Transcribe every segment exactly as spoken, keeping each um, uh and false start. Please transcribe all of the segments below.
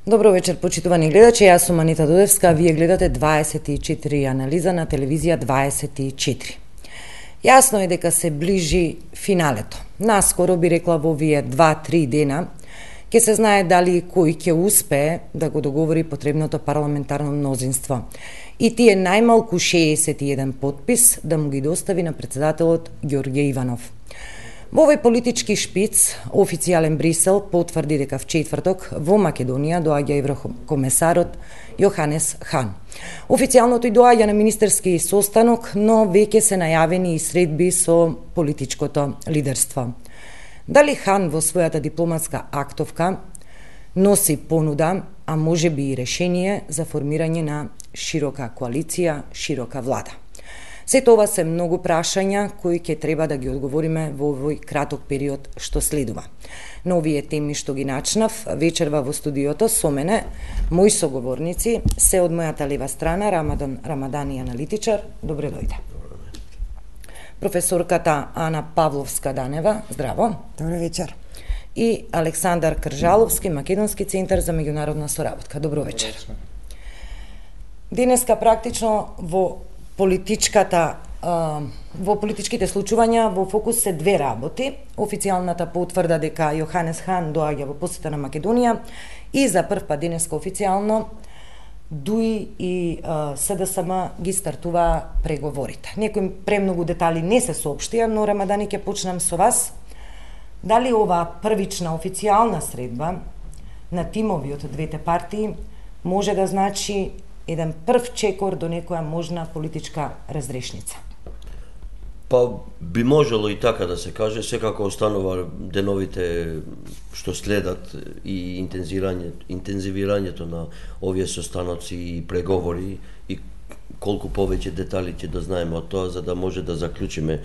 Добро вечер, почитувани гледачи. Јас сум Анита Додевска, а вие гледате дваесет и четири анализа на телевизија дваесет и четири. Јасно е дека се ближи финалето. Наскоро би рекла во овие два-три дена ќе се знае дали кој ќе успее да го договори потребното парламентарно мнозинство. И тие најмалку шеесет и еден подпис да му ги достави на председателот Ѓорѓе Иванов. Во овој политички шпиц, официјален Брисел потврди дека вчетврток во Македонија доаѓа еврокомесарот Јоханес Хан. Официјално тој доаѓа на министерски состанок, но веќе се најавени и средби со политичкото лидерство. Дали Хан во својата дипломатска актовка носи понуда, а може би и решение за формирање на широка коалиција, широка влада? Сето ова се многу прашања кои ќе треба да ги одговориме во овој краток период што следува. На овие теми што ги начнав, вечерва во студиото со мене, мои соговорници се од мојата лева страна Рамадан Рамадани, аналитичар, добре дојде. Професорката Ана Павловска-Данева, здраво. Добре вечер. И Александар Кржаловски, Македонски центар за меѓународна соработка. Добро вечер. Денеска практично во политичката во политичките случувања во фокус се две работи. Официјалната потврда дека Јоханес Хан доаѓа во посета на Македонија и за прв пат денеска официјално ДУИ и СДСМ ги стартува преговорите. Некои премногу детали не се соопштија, но Рамадани ќе почнам со вас. Дали ова првична официјална средба на тимови од двете партии може да значи еден прв чекор до некоја можна политичка разрешница? Па би можело и така да се каже, секако останува деновите што следат и интензивирањето на овие состаноци и преговори и колку повеќе детали ќе да знаеме од тоа за да може да заклучиме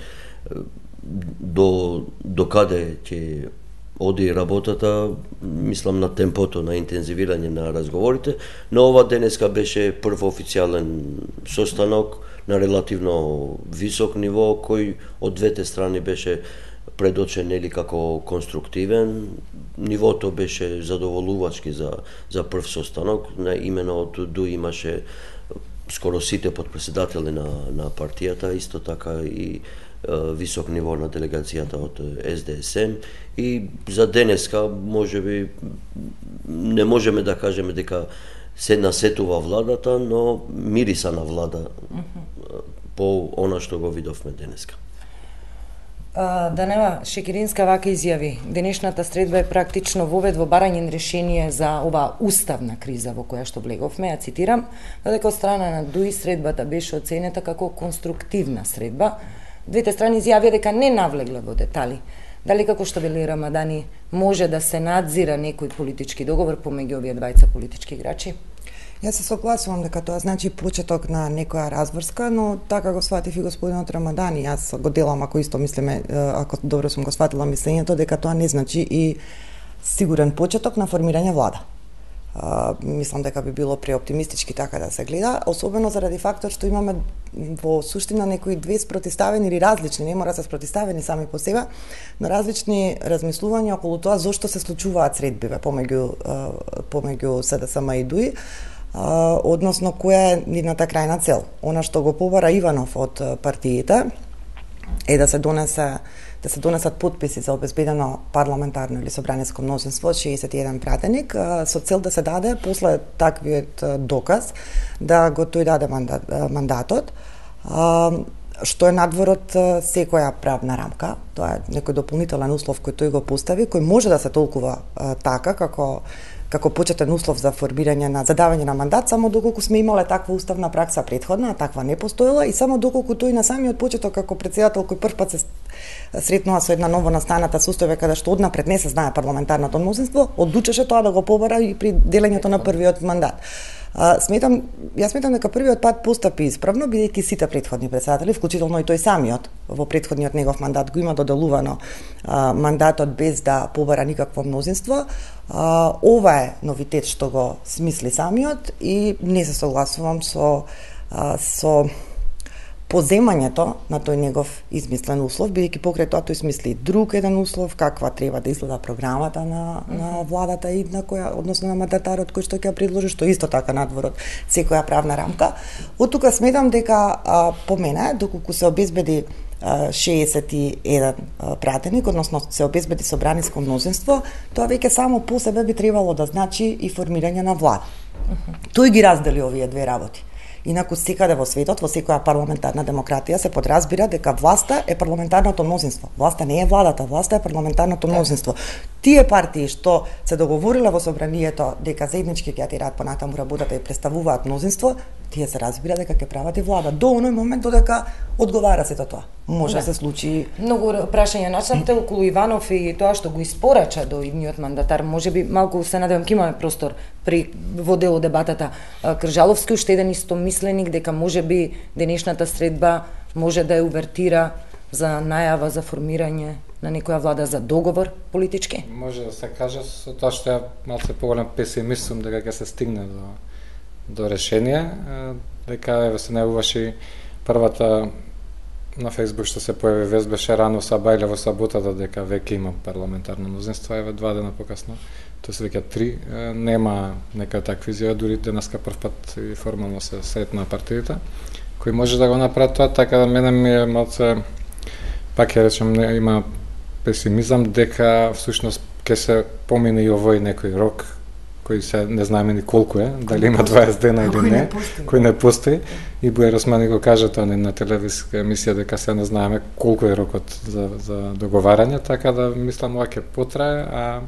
до до каде ќе оди работата, мислам на темпото на интензивирање на разговорите, но ова денеска беше прв официјален состанок на релативно висок ниво, кој од двете страни беше предочен или како конструктивен. Нивото беше задоволувачки за за прв состанок, на имено од ДУИ имаше скоро сите подпредседатели на на партијата, исто така и висок ниво на делегацијата од Ес Де Ес Ем и за денеска можеби не можеме да кажеме дека се насетува владата, но мириса на влада mm -hmm. по она што го видовме денеска. Данева Шекеринска вака изјави: денешната средба е практично вовед во барање решение за оваа уставна криза во која што влеговме, ја цитирам, додека од страна на ДУИ средбата беше оценета како конструктивна средба. Двете страни изјавија дека не навлегле во детали. Дали, како што вели Рамадани, може да се надзира некој политички договор помеѓу овие двајца политички играчи? Јас се согласувам дека тоа значи почеток на некоја разврска, но така го сватив и господинот Рамадани. Јас го делам, ако исто мислиме, ако добро сум го сватила мислењето, дека тоа не значи и сигурен почеток на формирање влада. Uh, мислам дека би било преоптимистички така да се гледа, особено заради фактот што имаме во суштина некои две спротивставени или различни, не мора да се спротивставени сами по себе, но различни размислувања околу тоа зошто се случуваат средбиве помеѓу uh, помеѓу СДСМ и ДУИ, uh, односно која е нивната крајна цел. Она што го побара Иванов од партиите е да се донесе да се донесат подписи за обезбедено парламентарно или собраниско мнозинство од шеесет и еден пратеник со цел да се даде после таквиот доказ да го тој даде мандат, мандатот, што е надвор од секоја правна рамка. Тоа е некој дополнителен услов кој тој го постави, кој може да се толкува така како како почетен услов за формирање на задавање на мандат, само доколку сме имале таква уставна пракса претходна, а таква не постоела, и само доколку тој на самиот почеток како претседател кој прв пат се сретнува со една ново настаната состојба каде што однапред не се знае парламентарното мнозинство, одлучеше тоа да го побара и при делењето на првиот мандат. А, сметам, јас сметам дека првиот пат постапи исправно, бидејќи сите претходни председатели, вклучително и тој самиот, во претходниот негов мандат го има доделувано а, мандатот без да побара никакво мнозинство. А, ова е новитет што го смисли самиот и не се согласувам со, а, со поземањето на тој негов измислен услов, бидејќи покрај тоа тој смисли друг еден услов, каква треба да изгледа програмата на, mm -hmm. на владата и на која, односно на мандатарот кој што ќе ја предложи, што исто така надвор од секоја правна рамка. Од тука сметам дека а, по мене, доколку се обезбеди шеесет и еден пратеник, односно се обезбеди собраниско мнозинство, тоа веќе само по себе би требало да значи и формирање на влада. Uh -huh. Тој ги раздели овие две работи. Инаку секаде во светот, во секоја парламентарна демократија се подразбира дека власта е парламентарното мнозинство. Власта не е владата, власта е парламентарното мнозинство. Тие партии што се договориле во собранието дека заеднички ќе ја тираат понатаму работата и представуваат мнозинство, тие се разбира дека ќе прават и влада до оној момент додека одговара сето тоа. Може да се случи. Многу прашања начнавте околу Иванов и тоа што го испорача до идниот мандатар. Можеби малку се надевам ќе имаме простор при во дел од дебатата. Кржаловски уште еден истомисленик дека можеби денешната средба може да ја увертира за најава за формирање на некоја влада, за договор политички. Може да се каже со тоа што ја малце поголем песимист сум дека ќе се стигне до до решение, дека еве се најуваше првата на Фејсбук што се појави вест беше рано сабајле во саботата дека веќе има парламентарно мнозинство, еве два дена покасно, тоа се веќе три, нема нека такви изјави, дури денеска првпат и формално се сретна партиите кои може да го направат тоа, така да мене ми е малце, пак ја речем, не, има песимизам дека всушност ќе се помине и овој некој рок кој се не знаеме ни колку е, дали има дваесет дена или не, кој не постои. И Бојар Османи го кажа тоа на телевизиска емисија дека се не знаеме колку е рокот за, за договарање, така да мислам ова ќе потрае, а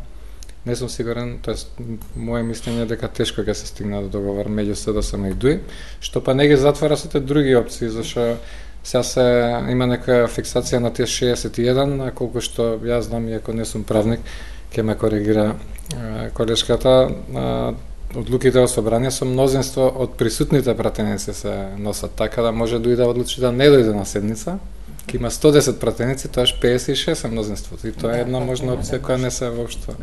не сум сигурен, тоест моје мислење е дека тешко ќе се стигне до договор меѓу СДСМ и ДУИ, што па не ги затвара сите други опции, зашто сега се има некоја фиксација на тие шеесет и еден, а колку што јас знам, иако не сум правник, ќе ме коригира колешката, одлуките во собрание со мнозинство од присутните пратеници се носат, така да може ДУИ да одлучи да не дојде на седница, ќе има сто десет пратеници, тоаш пеесет и шест е мнозинството, и тоа е една можна опција која не се воопшто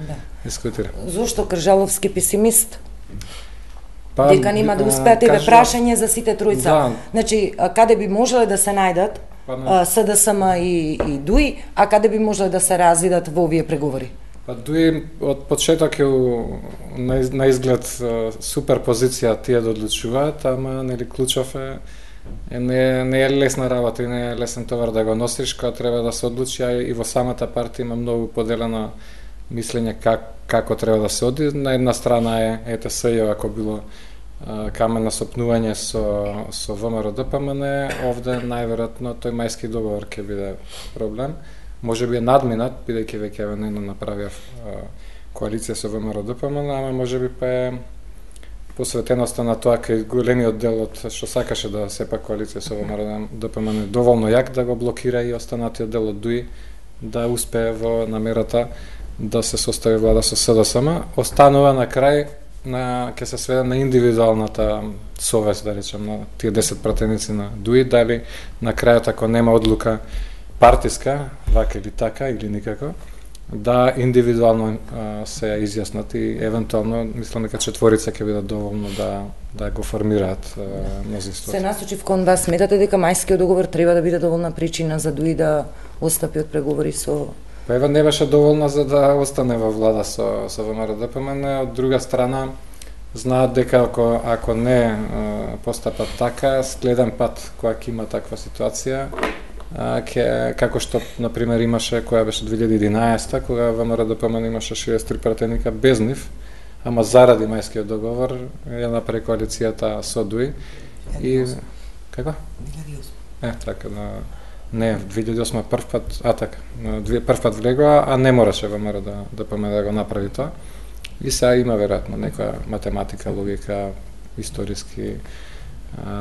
дискутира. Зошто Кржаловски песимист? Па, дека нема да успеат, еве прашање за сите тројца. Да. Значи, каде би можеле да се најдат па, СДСМ и, и ДУИ, а каде би можеле да се развидат во овие преговори? Па ДУИ од почеток е на, на изглед супер позиција тие да одлучуваат, ама нели клучов е, е не, не е лесна работа и не е лесен товар да го носиш, кога треба да се одлучи, а и во самата партија има многу поделено мислење как, како треба да се оди. На една страна е ЕТС, ако било а, камен на сопнување со, со ВМРО Д П М Н, овде најверојатно тој мајски договор ќе биде проблем. Може би е надминат, бидејќи веќе не направија коалиција со ВМРО Д П М Н, ама може би па е посветеноста на тоа кај големиот дел од што сакаше да сепак коалиција со ВМРО Д П М Н доволно јак да го блокира и останатиот дел од ДУИ да успее во намерата да се состави влада со СДСМ. Останува на крај на ќе се сведе на индивидуалната совест, да речем, на тие десет пратеници на ДУИ, дали на крајот ако нема одлука партиска, вака или така, или никако, да индивидуално а, се изјаснат и евентуално, мислам дека четворица ќе бидат доволно да, да го формираат мнозинството. Се насочив кон вас, сметате дека мајскиот договор треба да биде доволна причина за ДУИ да отстапи од преговори со... Па ева не беше доволна за да остане во влада со, со ВМРО Д П М Н, од друга страна знаат дека ако, ако не а, постапат така, следен пат кога ќе има таква ситуација, А, ке, како што, например, имаше, која беше две илјади и единаесета, кога ВМРО Д П М Н имаше шеесет и три пратеника без нив, ама заради мајскиот договор ја направи коалицијата со ДУИ. И... Како? две илјади и осма. Е, така, да... Не, две илјади и осма прв пат, а така, прв пат влегоа, а не мораше ВМРО Д П М Н да го направи тоа. И сега има веројатно некоја математика, логика, историски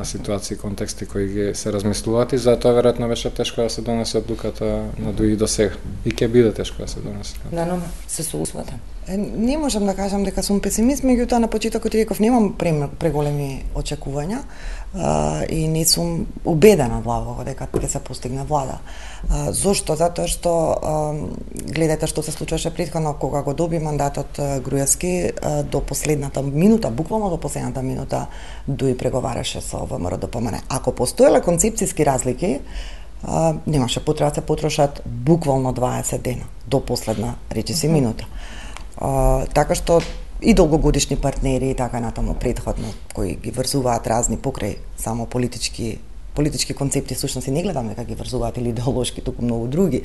ситуации, контексти кои ги се размислуваат и затоа веројатно беше тешко да се донесе одлуката на ДУИ до сега. И ќе биде тешко да се донесе. Да, но се согласувате. Не можам да кажам дека сум песимист, меѓутоа на почетокот реков немам преголеми очекувања а, и не сум убедена длабоко дека ќе се постигне влада. А, зошто? Затоа што а, гледате што се случуваше претходно кога го доби мандатот Груевски, а, до последната минута, буквално до последната минута Дуи преговараше со ВМРО-ДПМНЕ. Ако постоеле концепцијски разлики, а, немаше потреба да се потрошат буквално дваесет дена до последна речиси минута. Uh, така што и долгогодишни партнери и така натаму претходно кои ги врзуваат разни покрај само политички политички концепти, всушност и не гледам дека ги врзуваат или идеолошки, туку многу други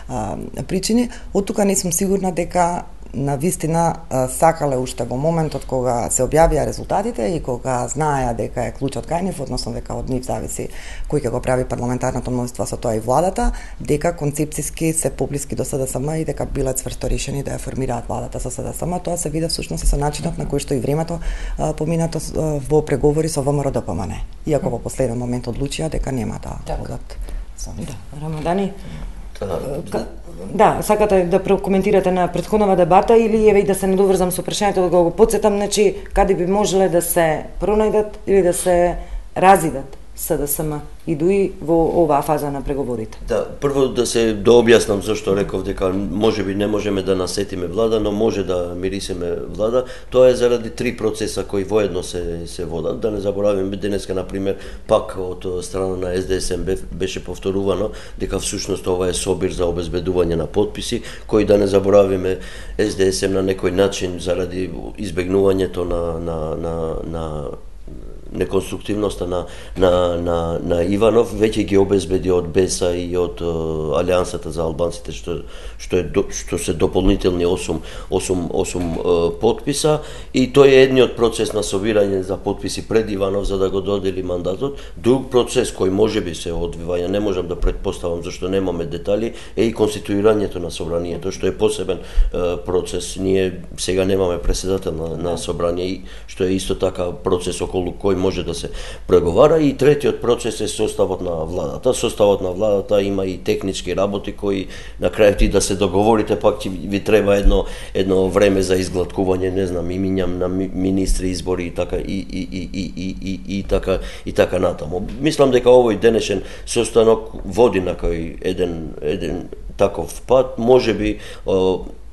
uh, причини. Од тука не сум сигурна дека на вистина сакале уште во моментот кога се објавија резултатите и кога знаеа дека е клучот кај нив, односно дека од нив зависи кој ќе го прави парламентарното мнозинство, со тоа и владата, дека концепцијски се поблиски до СДСМ и дека биле цврсто решени да ја формираат владата со СДСМ. Тоа се виде всушност и со начинот на кој што и времето а, поминато а, во преговори со ВМРО-ДПМНЕ. Иако во последен момент одлучија дека нема да одат со нив. Да, Рамадани. Да, да, сакате да прокоментирате на претходнава дебата или еве и да се недоврзам со прашањето да го потсетам, значи каде би можеле да се пронајдат или да се разидат СДСМ и Дуи во оваа фаза на преговорите? Да, прво да се дообјаснам зашто реков дека можеби не можеме да насетиме влада, но може да мирисеме влада. Тоа е заради три процеса кои воедно се се водат. Да не заборавиме денеска на пример пак од страна на СДСМ беше повторувано дека всушност ова е собир за обезбедување на потписи, кои да не заборавиме СДСМ на некој начин заради избегнувањето на на на на неконструктивноста на, на, на, на Иванов веќе ги обезбеди од БЕСА и од uh, Алијансата за албанците, што, што, е, што се дополнителни осум, осум, осум uh, подписа, и тој е едниот процес на собирање за подписи пред Иванов за да го додели мандатот. Друг процес кој може би се одвива, не можам да предпоставам зашто немаме детали, е и конституирањето на собранието, што е посебен uh, процес. Ние сега немаме преседател на, на собрание, што е исто така процес околу кој може да се преговара, и третиот процес е составот на владата. Составот на владата има и технички работи кои на крај ти да се договорите, пак ќе ви треба едно едно време за изглаткување, не знам, имињам на министри, избори и така и и и и и и, и така и така натаму. Мислам дека овој денешен состанок води на кој еден еден таков пат, можеби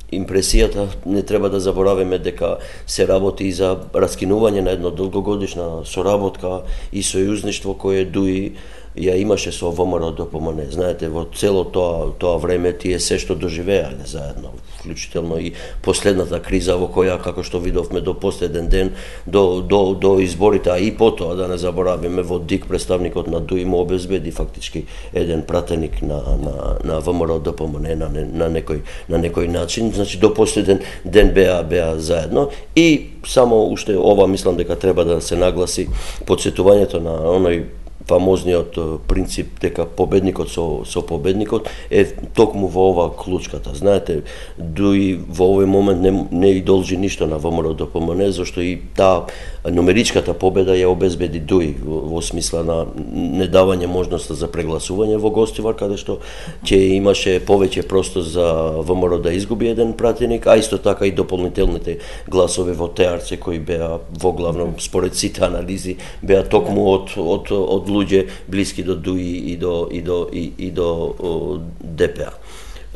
импресијата, не треба да забораваме дека се работи и за раскинување на едно долгогодишна соработка и сојузништво кое Дуи ја имаше со ВМРО-ДПМНЕ. Знаете, во цело тоа тоа време тие се што доживеале заедно, вклучително и последната криза во која, како што видовме, до последен ден, до до до изборите, а и потоа да не забораваме, во ДИК представникот на Дуи му обезбеди фактички еден пратеник на на на ВМРО-ДПМНЕ на на некој на некој начин, значи до последен ден беа беа заедно. И само уште ова мислам дека треба да се нагласи подсетувањето на оној фамозниот принцип дека победникот со со победникот е токму во ова клучката. Знаете, Дуи во овој момент не не и должи ништо на ВМРО-ДПМНЕ, зашто и таа нумеричката победа ја обезбеди Дуи во, во смисла на недавање можноста за прегласување во Гостивар, каде што ќе имаше повеќе простор за ВМРО да изгуби еден пратеник, а исто така и дополнителните гласови во ТЕАРЦ кои беа во главно според сите анализи беа токму од од од луѓе блиски до Дуи и до и до и, и до о, ДПА.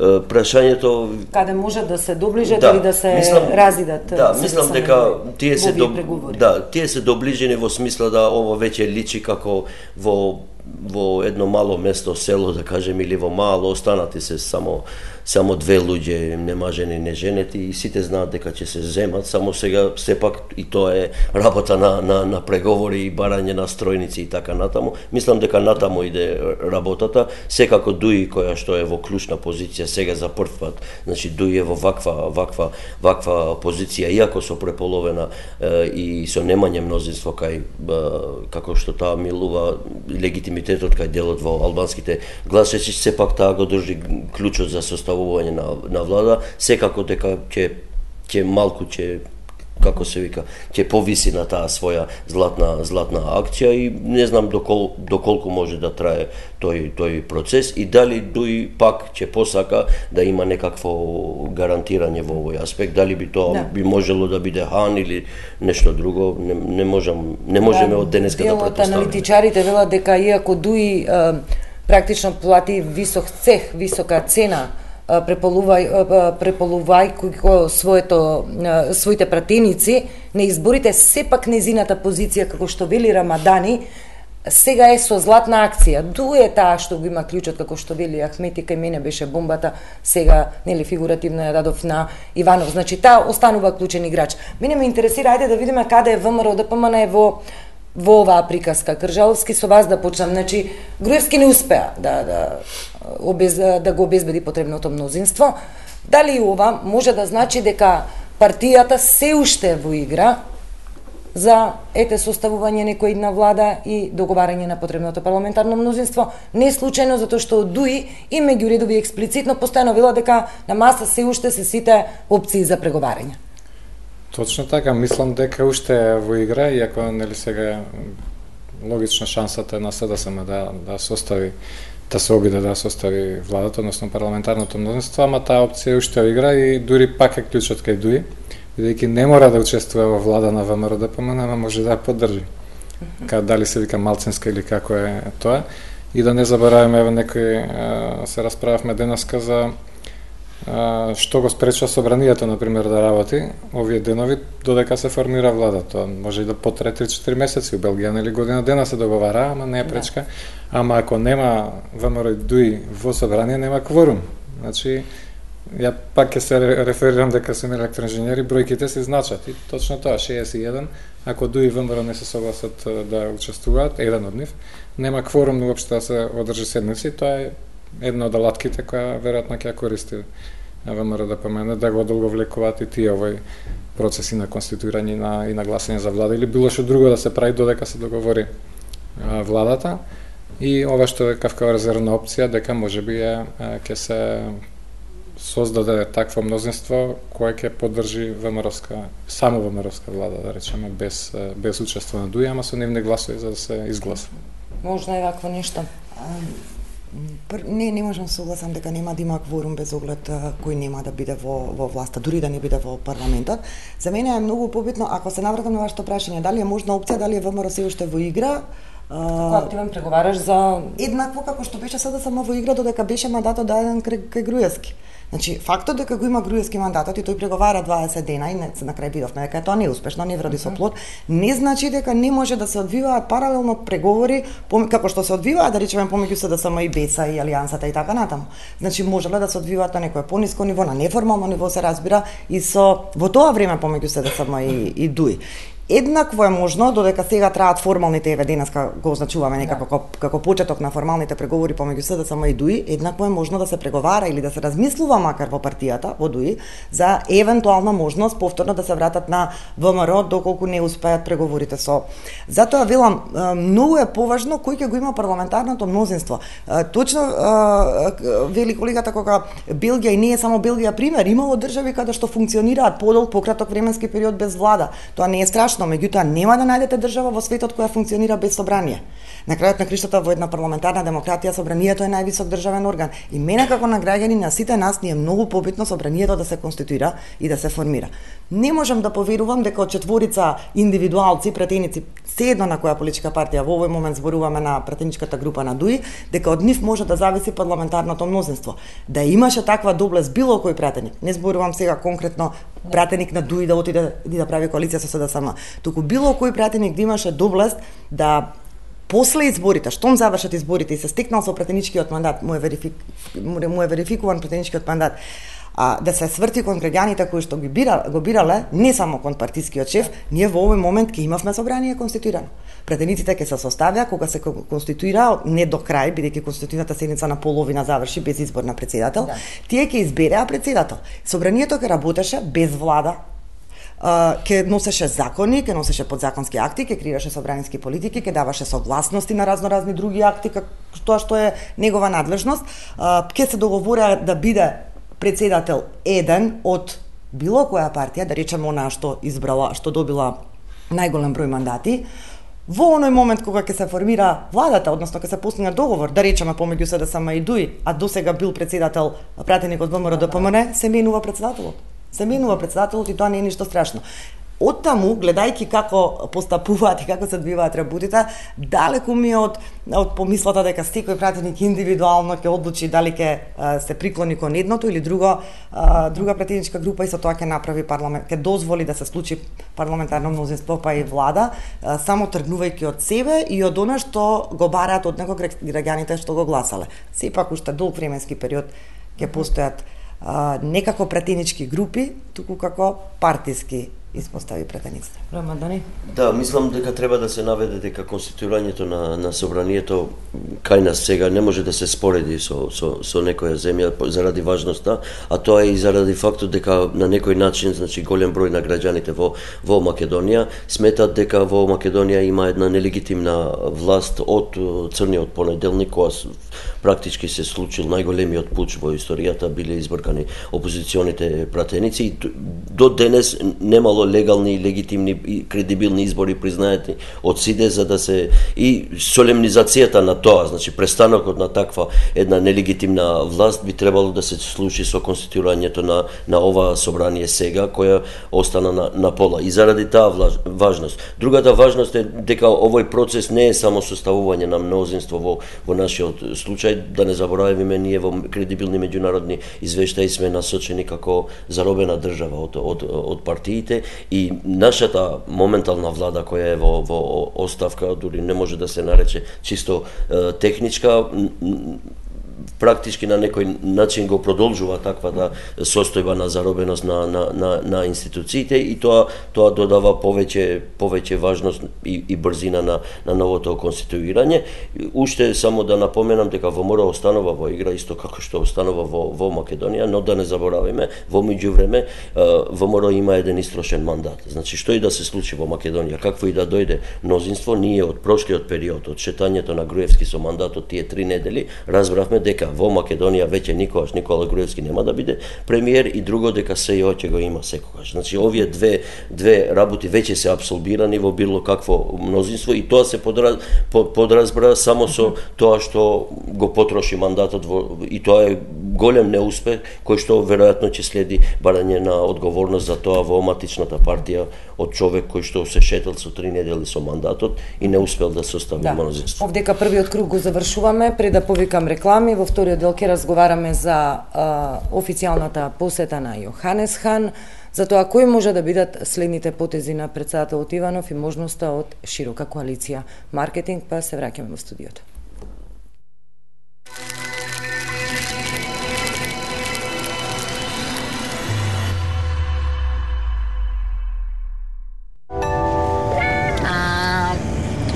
Прашањето каде може да се доближат да, или да се мислам, разидат. Да, мислам дека тие се до, да, тие се доближени во смисла да ова веќе личи како во во едно мало место, село, да кажем, или во мало, останати се само само две луѓе, немажени, неженети, и сите знаат дека ќе се земат, само сега сепак и тоа е работа на, на, на преговори и барање на стројници и така натаму. Мислам дека натаму иде работата, секако Дуи која што е во клучна позиција сега за прв пат, значи Дуи е во ваква, ваква, ваква позиција, иако со преполовена е, и со немање мнозинство кај, е, како што таа милува легитимитетот кај делот во албанските гласачи, сепак таа го држи клучот за составување на, на влада, секако дека ќе ќе малку ќе како се вика, ќе повиси на таа своја златна златна акција и не знам докол, доколку може да трае тој тој процес и дали дуи пак ќе посака да има некакво гарантирање во овој аспект, дали би тоа да. би можело да биде хан или нешто друго, не, не можам не можеме да, од денеска да претпоставиме. Аналитичарите велат дека иако дуи е, практично плати висок цех, висока цена преполувај преполувај своето своите пратеници на изборите, сепак незината позиција како што вели Рамадани сега е со златна акција. Дуе таа што го има клучот, како што вели Ахмети, кај мене беше бомбата, сега нели фигуративно ја дадов на Иванов. Значи таа останува клучен играч. Мене ме интересира, ајде да видиме каде е ВМРО ДПМН е во во оваа приказка. Кржаловски, со вас да почнам. Значи Груевски не успеа да да обез, да го обезбеди потребното мнозинство. Дали ова може да значи дека партијата се уште во игра за ете составување некој една влада и договарање на потребното парламентарно мнозинство, не случајно затоа што од ДУИ и меѓу редови експлицитно постојано вела дека на маса се уште се сите опции за преговарање. Точно така, мислам дека уште е во игра, иако нели сега логична шансата е на СДСМ да да состави да се обиде да состави владата, односно парламентарното мнозинство, ама таа опција уште е во игра и дури пак е клучот кај ДУИ, бидејќи не мора да учествува во влада на ВМРО ДПМН, ама може да ја поддржи. Ка дали се вика малцинска или како е тоа. И да не забораваме, еве некој се расправавме денеска за што го спречува собранието, например, да работи овие денови додека се формира влада. Тоа може и да потре три-четири месеци. У Белгија нели година дена се договара, ама не е пречка. Ама ако нема ВМРО и ДУИ во собрание, нема кворум. Значи, ја пак ќе се реферирам дека сум електроинженери, бројките се значат. И точно тоа, шеесет и еден, ако ДУИ и ВМРО не се согласат да учествуваат, еден од нив, нема кворум уопште да се одржи седници, тоа е една од алатките која веројатно ќе ја користи ВМРО ДПМН да го одолговлекуваат и тие овој процеси на конституирање на и на гласање за влада или било што друго да се прави додека се договори а, владата. И ова што е кавкава резервна опција дека можеби е ќе се создаде такво мнозинство кое ќе поддржи ВМРО-ска, само ВМРО-ска влада, да речеме, без без учество на ДУИ, ама со нивни гласови за да се изгласа. Можно е вакво нешто. Не, не можам согласам дека нема да има кворум без оглед кој нема да биде во во власта, дури да не биде во парламентот. За мене е многу побитно, ако се навратам на вашето прашање, дали е можна опција, дали е ВМРО се уште во игра? Како активен преговараш за еднакво како што беше СДСМ во игра додека беше мандатот даден кај Груевски. Значи, фактот дека го има Груевски мандатот и тој преговара дваесет дена и не, на крај видовме дека тоа не е успешно, не вроди со плод, не значи дека не може да се одвиваат паралелно преговори како што се одвиваат, да речеме, помеѓу СДСМ и БЕСА и Алијансата и така натаму. Значи, можеле да се одвиваат на некое пониско ниво, на неформално ниво се разбира и со во тоа време помеѓу СДСМ и, и ДУИ. Еднакво е можно, додека сега траат формалните, еве денеска го означуваме некако како, како почеток на формалните преговори помеѓу СДСМ и ДУИ, еднакво е можно да се преговара или да се размислува макар во партијата, во ДУИ, за евентуална можност повторно да се вратат на ВМРО доколку не успеат преговорите со. Затоа велам, многу е поважно кој ќе го има парламентарното мнозинство. Точно вели колегата кога Белгија и не е само Белгија пример, имало држави каде што функционираат подолг пократок временски период без влада. Тоа не е страшно, меѓутоа нема да најдете држава во светот која функционира без собрание. На крајот на криштата во една парламентарна демократија собранието е највисок државен орган и мене како на граѓани на сите нас ни е многу побитно собранието да се конституира и да се формира. Не можам да поверувам дека од четворица индивидуалци, пратеници, седно на која политичка партија, во овој момент зборуваме на пратеничката група на ДУИ, дека од нив може да зависи парламентарното мнозинство. Да имаше таква доблест било кој пратеник. Не зборувам сега конкретно пратеник на ДУИ да отиде и да прави коалиција со СДСМ. Туку било кој пратеник да имаше доблест да после изборите, штом завршат изборите и се стекнал со пратеничкиот мандат, му е, верифик, му е верификуван пратеничкиот мандат, а, да се сврти кон граѓаните кои што ги бира, го бирале, не само кон партискиот шеф, ние во овој момент ќе имавме собрание конституирано. Пратениците ќе се составија кога се конституира, не до крај, бидејќи конституционата седница на половина заврши без избор на председател, да. Тие ќе избереа председател. Собранието ќе работеше без влада, ќе носеше закони, ќе носеше подзаконски акти, ќе креираше собранински политики, ќе даваше согласности на разноразни други акти, како тоа што е негова надлежност, ќе се договорија да биде председател еден од било која партија, да речеме она што избрала, што добила најголем број мандати, во оној момент кога ќе се формира владата, односно ќе се постигне договор, да речеме помеѓу СДСМ и ДУИ, а досега бил председател пратеник од ВМРО Д П М Н, се менува председателот. Се менува председателот и тоа не е ништо страшно. Оттаму, гледајќи како постапуваат и како се одвиваат работите, далеку ми е од, од помислата дека секој пратеник индивидуално ќе одлучи дали ќе се приклони кон едното или друго, а, друга пратеничка група и со тоа ќе направи парламент, ќе дозволи да се случи парламентарно мнозинство па и влада, а, само тргнувајќи од себе и од она што го бараат од него граѓаните што го гласале. Сепак уште долг временски период ќе постојат а, не како пратенички групи, туку како партиски испостави пратениците. Рамадани? Да, мислам дека треба да се наведе дека конституирањето на, на собранието кај нас сега не може да се спореди со, со, со некоја земја заради важноста, а тоа е и заради фактот дека на некој начин, значи голем број на граѓаните во, во Македонија сметат дека во Македонија има една нелегитимна власт од црниот понеделник, кога практички се случил најголемиот пуч во историјата, биле избркани опозиционите пратеници и до денес немало легални, легитимни и кредибилни избори признаети од СИДЕ за да се и солемнизацијата на тоа, значи престанокот на таква една нелегитимна власт би требало да се случи со конституирањето на на ова собрание сега, која остана на, на пола. И заради таа важност. Другата важност е дека овој процес не е само составување на мнозинство во во нашиот случај, да не заборавиме, ние во кредибилни меѓународни извештаи сме насочени како заробена држава од од од партиите и нашата моментална влада која е во во оставка, дури не може да се нарече чисто е, техничка, практички на некој начин го продолжува таквата состојба на заробеност на на на, на институциите и тоа тоа додава повеќе повеќе важност и, и брзина на на новото конституирање. Уште само да напоменам дека ВМРО останува во игра исто како што останува во во Македонија, но да не заборавиме, во меѓувреме ВМРО има еден истрошен мандат. Значи што и да се случи во Македонија, какво и да дојде мнозинство, ние од прошлиот период, од шетањето на Груевски со мандатот тие три недели, разбравме дека во Македонија веќе никогаш Никола Груевски нема да биде премиер и друго дека СЈО ќе го има секогаш. Значи овие две две работи веќе се апсолбирани во било какво мнозинство и тоа се подраз, подразбра само со тоа што го потроши мандатот во, и тоа е голем неуспех кој што веројатно ќе следи барање на одговорност за тоа во матичната партија од човек кој што се шетал со три недели со мандатот и не успел да состави да. мнозинство. Овдека првиот круг го завршуваме, пред да повикам реклами, во вториот дел ќе разговараме за а, официјалната посета на Јоханес Хан, за тоа кои може да бидат следните потези на председателот Иванов и можноста од широка коалиција маркетинг, па се враќаме во студиото.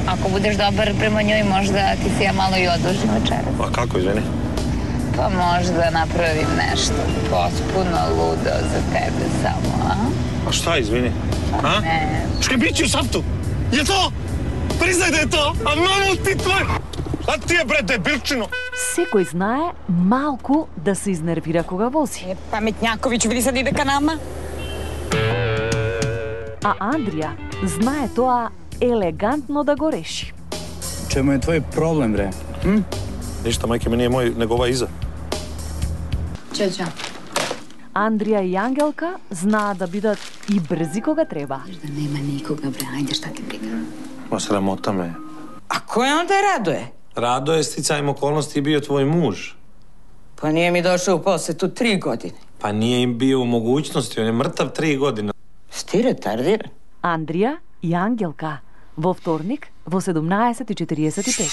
Ако будеш добар према њој, можда ти се ја мало и одложи вечерас. А како, извини? Па можда направим нешто потпуно лудо за тебе само, а? А шта, извини? А? Не. Шкребичи у шафту! Je to? Признай да е то! А мамо ти твој! А ти е, бре, дебилчино! Секој знае малку да се изнервира кога вози. Е, Паметњаковиќ, види sad ide ka nama. А Андрија знае тоа елегантно да го реши. Чему е твој проблем, бре? Hm? Ништа, мајке ми не е мој, него ова иза. Чао, чао. Андрија и Ангелка знаат да бидат и брзи кога треба. Да нема никога, бре, ајде, шта ти брига. Ма срамота ме. А кој онда Радоје? Радоје стицајм околности и био твој муж. Па nije mi došao u posjetu tri godine. Па nije im bio u mogućnosti, on je mrtav tri godine. Sti retardiran? Андрија и Ангелка во вторник во седумнаесет и четириесет и пет.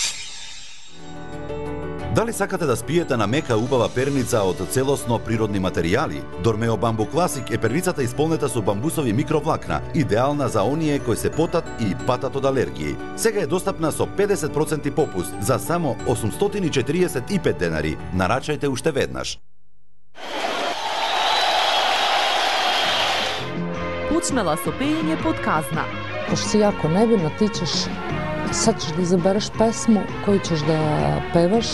Дали сакате да спиете на мека убава перница од целосно природни материјали? Дормео Бамбу Класик е перницата исполнета со бамбусови микровлакна, идеална за оние кои се потат и патат од алергии. Сега е достапна со педесет проценти попуст за само осумстотини и четириесет и пет денари. Нарачајте уште веднаш. Почнала со пеење под казна. Пошто си јако невинно, ти ćeš, sad ćeš da izabereš pesmu koju ćeš da pevaš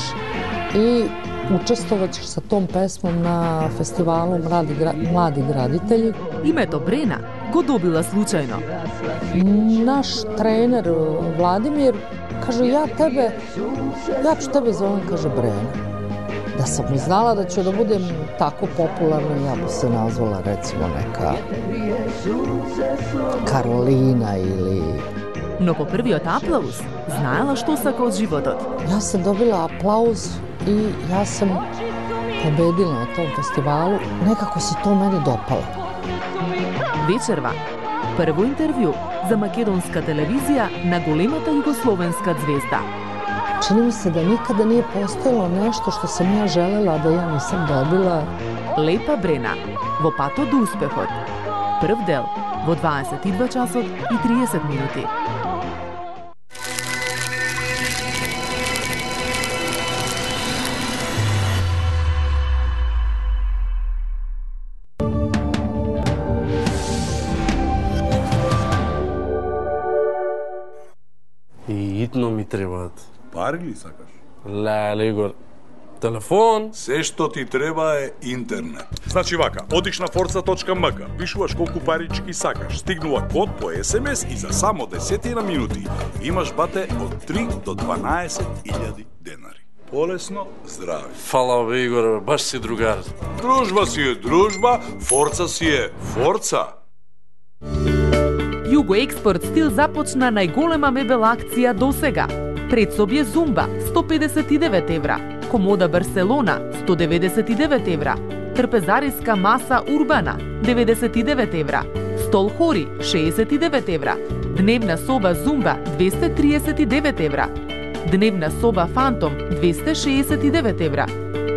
i Учествувачеш sa tom pesmom na festivalu Mladi, Mladi graditelji. Името Брена го добила случајно. Наш тренер Владимир каже, ја тебе, ја ću tebe zovem, kaže Brena. Da sam mi znala da ću da budem tako popularna, ja bi se nazvala recimo neka Karolina ili... Но по првиот аплауз знаела што сака од животот. Ја sam dobila aplauz i ja sam pobedila na tom festivalu. Nekako se to meni dopalo. Вечерва, прво интервју за македонска телевизија на големата југословенска звезда. Čini mi se da nikada nije postojalo nešto što sam ja želela da ja nisam dobila. Лепа Брена, во патот до успехот. Прв дел во дваесет и два часот и триесет минути. И итно ми требаат. Пари ли сакаш? Леле, Игор. Телефон? Се што ти треба е интернет. Значи вака, одиш на forza точка ем ка, пишуваш колку парички сакаш, стигнува код по ес ем ес и за само десетина минути имаш бате од три до дванаесет илјади денари. Полесно, здрави. Фала бе, Игор, баш си другар. Дружба си е дружба, форца си е форца. Југо Експорт Стил започна најголема мебел акција досега. Предсобје Зумба сто педесет и девет евра, комода Барселона сто деветдесет и девет евра, трпезариска маса Урбана деветдесет и девет евра, стол Хори шеесет и девет евра, дневна соба Зумба двесте триесет и девет евра, дневна соба Фантом двесте шеесет и девет евра,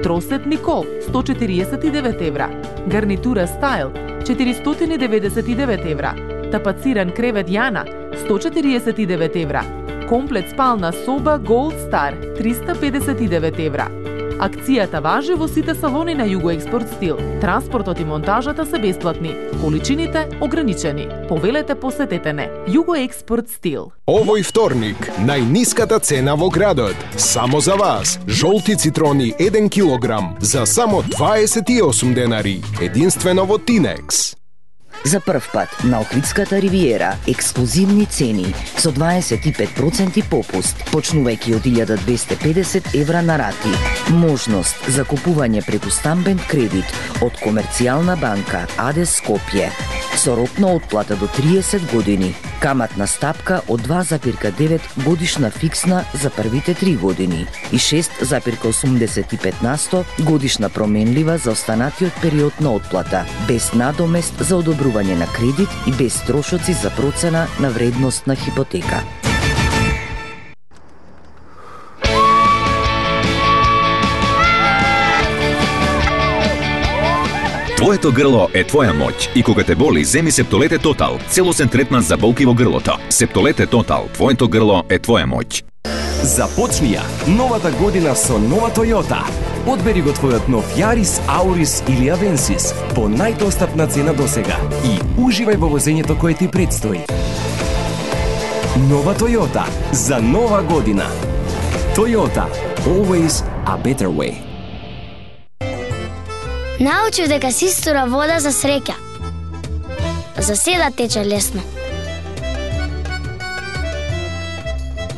тросет Никол сто четириесет и девет евра, гарнитура Стайл четиристотини деветдесет и девет евра, тапациран кревет Јана сто четириесет и девет евра, комплет спална соба Gold Star триста педесет и девет евра. Акцијата важи во сите салони на Југо Експорт Стил. Транспортот и монтажата се бесплатни, количините ограничени. Повелете, посетете не. Југо Експорт Стил. Овој вторник, најниската цена во градот. Само за вас. Жолти цитрони еден килограм за само дваесет и осум денари. Единствено во Тинекс. За прв пат на Охридската ривиера ексклузивни цени со дваесет и пет проценти попуст, почнувајќи од илјада двесте и педесет евра на рати. Можност за купување преку стамбен кредит од Комерцијална банка АД Скопје со рок на отплата до триесет години. Каматна стапка од два запирка девет годишна фиксна за првите три години и шест запирка осумдесет и пет насто годишна променлива за останатиот период на отплата, без надомест за одобрување на кредит и без трошоци за процена на вредност на хипотека. Твоето грло е твоја моќ и кога те боли, земи Септолете Тотал, целосен третман за болки во грлото. Септолете Тотал, твоето грло е твоја моќ. Започнија новата година со нова Toyota. Одбери го твојот нов Јарис, Аурис или Авенсис по најдостапна цена досега и уживај во возењето кое ти предстои. Нова Toyota за нова година. Toyota, always a better way. Научив дека се истура вода за среќа. За седа тече лесно.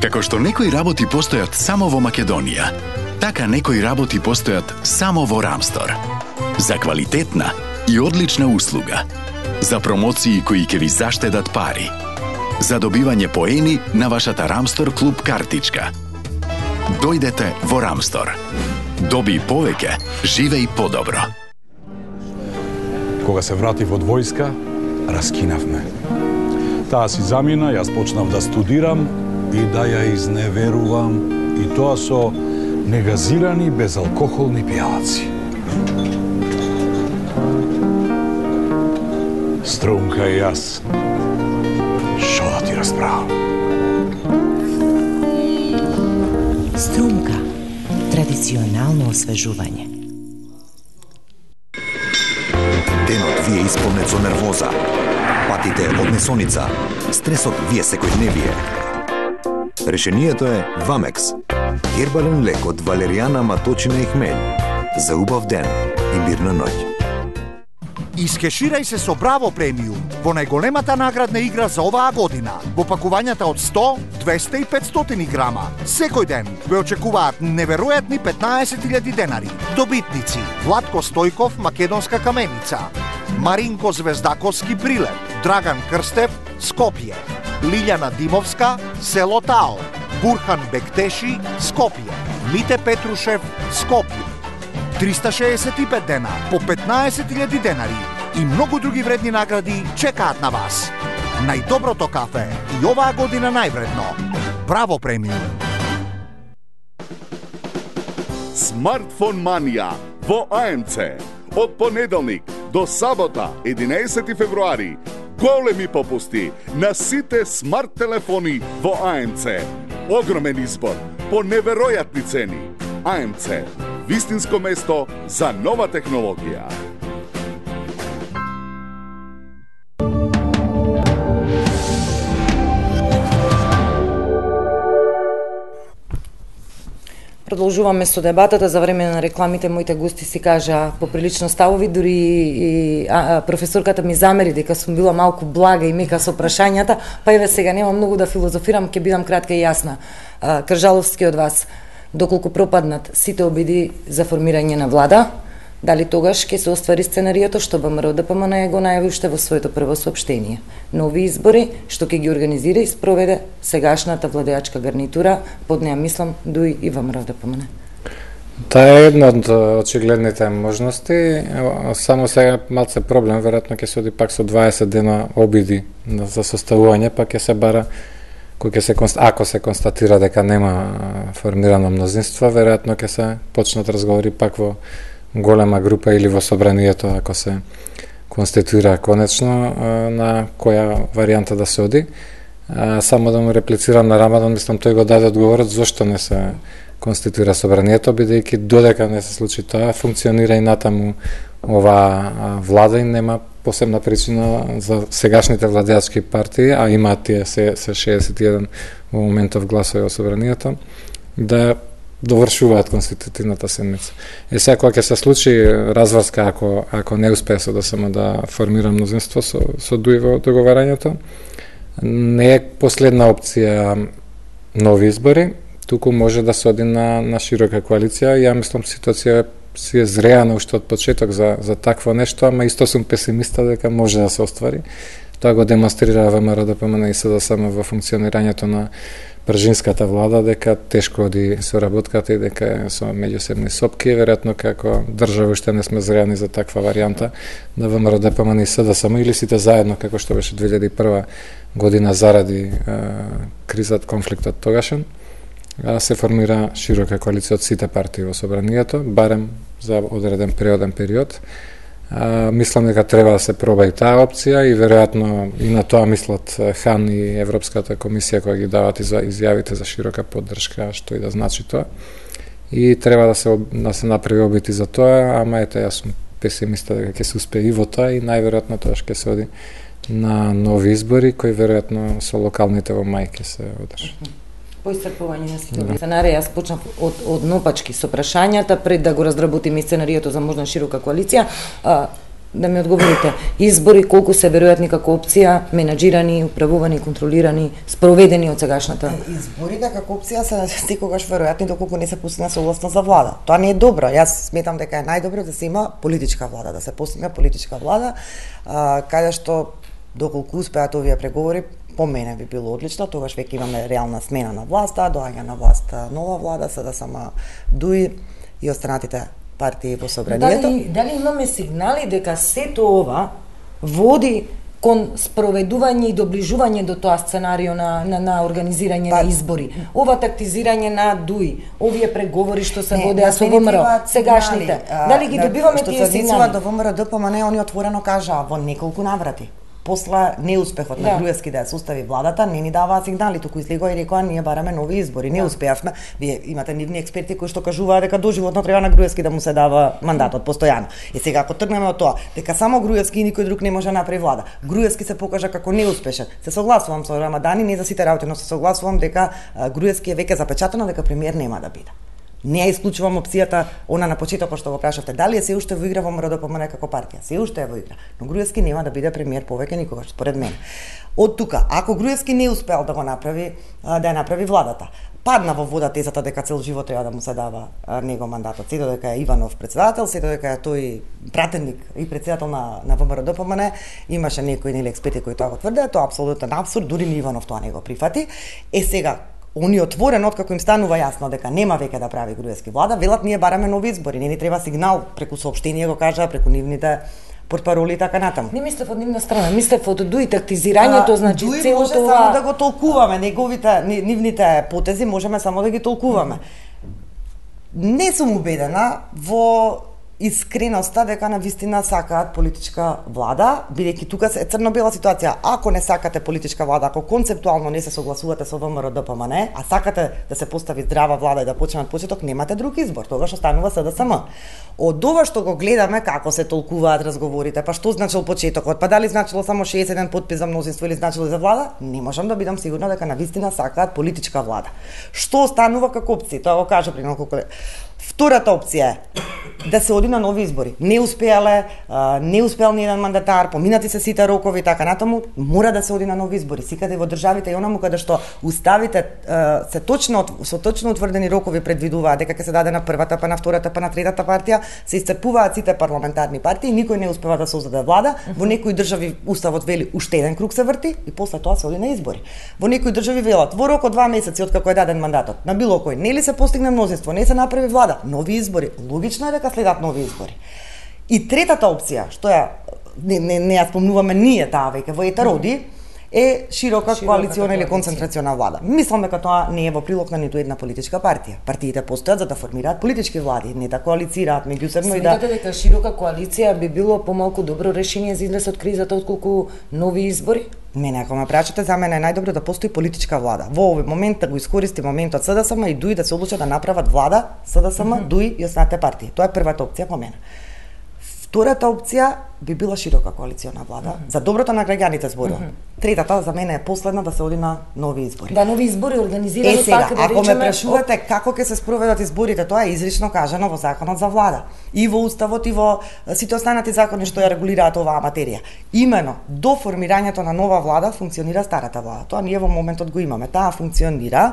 Како што некои работи постојат само во Македонија, така некои работи постојат само во Рамстор. За квалитетна и одлична услуга. За промоции кои ќе ви заштедат пари. За добивање поени на вашата Рамстор клуб картичка. Дојдете во Рамстор. Доби повеќе, живеј подобро. Кога се вратив од војска, раскинавме. Таа си замина, јас почнав да студирам и да ја изневерувам, и тоа со негазирани безалкохолни пијалаци. Струмка и јас, шо да ти расправам? Струмка, традиционално освежување. Денот ви е исполнет со нервоза, патите од месоница, стресот ви е секојдневие. Решението е Вамекс, хербален лек од валеријана, маточина и хмелј. За убав ден и мирна ноќ. Искеширај се со Браво премиум во најголемата наградна игра за оваа година. Во пакувањата од сто, двесте и петстотини грама. Секој ден ве очекуваат неверојатни петнаесет илјади денари. Добитници: Владко Стојков, Македонска каменица; Маринко Звездаковски, Прилеп; Драган Крстев, Скопје; Лилјана Димовска, село Тао; Бурхан Бектеши, Скопје; Мите Петрушев, Скопје. триста шеесет и пет дена по петнаесет илјади денари и многу други вредни награди чекаат на вас. Најдоброто кафе и оваа година највредно. Браво премиум. Смартфон манија во А М Це. Од понеделник до сабота, единаесети февруари, големи попусти на сите смарт телефони во А М Це. Огромен избор по неверојатни цени. А М Це. Вистинско место за нова технологија. Продолжуваме со дебатата. За време на рекламите моите гости си кажа поприлично ставови, дури и а, професорката ми замери дека сум била малку блага и мека со прашањата, па еве сега нема многу да филозофирам, ќе бидам кратка и јасна. А, Кржаловски од вас, доколку пропаднат сите обиди за формирање на влада, дали тогаш ќе се оствари сценариото што ВМРО Д П М Н го најави уште во своето прво соопштение? Нови избори што ќе ги организира и спроведе сегашната владеачка гарнитура, под неа мислам дуи и ВМРО Д П М Н. Таа е една од очигледните можности, само сега малце проблем, веројатно ќе се оди пак со дваесет дена обиди за составување, па ќе се бара кој ќе се ако се констатира дека нема формирано мнозинство, веројатно ќе се почнат разговори пак во голема група или во собранието ако се конституира конечно на која варијанта да се оди. Само да му реплицирам на Рамадан, мислам тој го даде одговорот зошто не се конституира собранието, бидејќи додека не се случи тоа, функционира и натаму оваа влада и нема посебна причина за сегашните владеачки партии, а имаат тие се, се шеесет и еден во моментов гласови во собранието, да довршуваат конститутивната седмица. Е сега кога ќе се случи разврска, ако ако не успее со да само да формира мнозинство со со дуи во договарањето, не е последна опција нови избори, туку може да се оди на на широка коалиција. Ја мислам ситуација си е зреана уште од почеток за за такво нешто, ама исто сум песимиста дека може да се оствари. Тоа го демонстрира ВМРО Д П М Н и С Д С М во функционирањето на пржинската влада, дека тешко оди соработката и дека е со меѓусебни сопки. Веројатно како држава уште не сме зреани за таква варијанта да ВМРО Д П М Н и С Д С М или сите заедно, како што беше две илјади и прва година заради е, кризат, конфликтот тогашен, се формира широка коалиција од сите партии во собранието, барем за одреден периоден период. А, мислам дека треба да се проба и таа опција и веројатно и на тоа мислат Хан и Европската комисија која ги дават и за изјавите за широка поддршка, што и да значи тоа. И треба да се да се направи обити за тоа, ама ете јас сум песимиста дека ќе се успее и во тоа и најверојатно тоа ќе се оди на нови избори кои веројатно со локалните во мај ќе се одржат. По исцрпување на сите сценарии, јас почнав од, од нопачки со прашањата, пред да го разработиме сценариото за можна широка коалиција, а, да ми одговорите, избори колку се веројатни како опција, менаџирани, управувани, контролирани, спроведени од сегашната? Изборите како опција се секогаш веројатни доколку не се постигне согласност за влада. Тоа не е добро. Јас сметам дека е најдобро да се има политичка влада, да се постигне политичка влада, а, каде што доколку успеат овие преговори, по мене би било одлично, тогаш веќе имаме реална смена на власта, доаѓа на власт нова влада, се да сама дуи и останатите партии во собранието. Дали, дали имаме сигнали дека сето ова води кон спроведување и доближување до тоа сценарио на, на, на организирање па, на избори? Ова тактизирање на дуи, овие преговори што се водеа со ВМРО, сегашните, дали ги добиваме тие сигнали? Што се до ВМРО Д П М Н, они отворено кажаа во неколку наврати. После неуспехот да. на Груевски да ја состави владата, не ни даваа сигнали, туку излегоа и рекоа ние бараме нови избори. Не да. успеавме. Вие имате нивни експерти кои што кажуваат дека доживотно треба на Груевски да му се дава мандатот постојано. И сега ако тргнеме од тоа дека само Груевски и никој друг не може да направи влада, Груевски се покажа како неуспешен. Се согласувам со Рамадани, не за сите работи, но се согласувам дека Груевски е веќе запечатено дека премиер нема да биде. Не ја исклучувам опцијата, она на почетокот што го прашавте, дали е се уште во игра во МРДПМН како партија? Се уште е во игра, но Груевски нема да биде премиер повеќе никогаш, според мене. Од тука, ако Груевски не успеал да го направи, да ја направи владата, падна во вода тезата дека цел живот треба да му се дава него мандатот, се додека е Иванов председател, се додека е тој пратеник и председател на на ВМРДПМН, имаше некои нели експерти кои тоа го тврдеа, тоа е апсолутен апсурд, дури ни Иванов тоа не го прифати. Е сега они отворено откако им станува јасно дека нема веќе да прави Груевски влада, велат ние бараме нови избори, не ни треба сигнал преку соопштение го кажа, преку нивните портпароли и така натаму. Не мислев од нивна страна, мислев од Дуи тактизирањето, значи Дуи целото може само ова... да го толкуваме, неговите нивните потези можеме само да ги толкуваме. Не сум убедена во искреноста дека на вистина сакаат политичка влада, бидејќи тука е црно-бела ситуација. Ако не сакате политичка влада, ако концептуално не се согласувате со ВМРДПМН, а сакате да се постави здрава влада и да почне од почеток, немате друг избор, тогаш останува СДСМ. Од ова што го гледаме како се толкуваат разговорите, па што значил почетокот, па дали значило само шеесет и еден потпис за мнозинство или значило за влада, не можам да бидам сигурна дека на вистина сакаат политичка влада. Што останува како опција? Тоа го кажа при неколку колеги. Втората опција е да се оди на нови избори. Не успеале, не успеал ни еден мандатар, поминати се сите рокови и така натаму, мора да се оди на нови избори. Секаде во државите и онаму каде што уставите се точно со точно утврдени рокови предвидуваат дека ќе се даде на првата, па на втората, па на третата партија, се исцрпуваат сите парламентарни партии, никој не успева да создаде влада. Во некои држави уставот вели уште еден круг се врти и после тоа се оди на избори. Во некои држави велат во рок од два месеци од како е даден мандатот на било кој, нели се постигне мнозинство, не се направи влада, нови избори. Логично е дека следат нови избори. И третата опција, што ја не не, не ја спомнуваме ние таа веќе во етероди, е широка, широка коалициона или концентрациона влада. Мислам дека тоа не е во прилог на ниту една политичка партија. Партиите постојат за да формираат политички влади, не да коалицираат меѓусебно и да... Сметате дека широка коалиција би било помалку добро решение за излез од кризата отколку нови избори? Мене, ако ме прашате, за мене е најдобро да постои политичка влада. Во овој момент да го искористи моментот СДСМ и Дуи да се одлучат да направат влада, СДСМ, mm -hmm. Дуи и останатите партии. Тоа е првата опција по мене. Втората опција би била широка коалициона влада, mm -hmm. за доброто на граѓаните зборувам. Mm -hmm. Третата за мене е последна да се оди на нови избори. Да, нови избори организирани е, сега, пак да ако речеме... ме прашувате како ќе се спроведат изборите, тоа е изрично кажано во Законот за влада. И во Уставот, и во сите останати закони што ја регулираат оваа материја. Имено, до формирањето на нова влада функционира старата влада. Тоа ние во моментот го имаме. Таа функционира.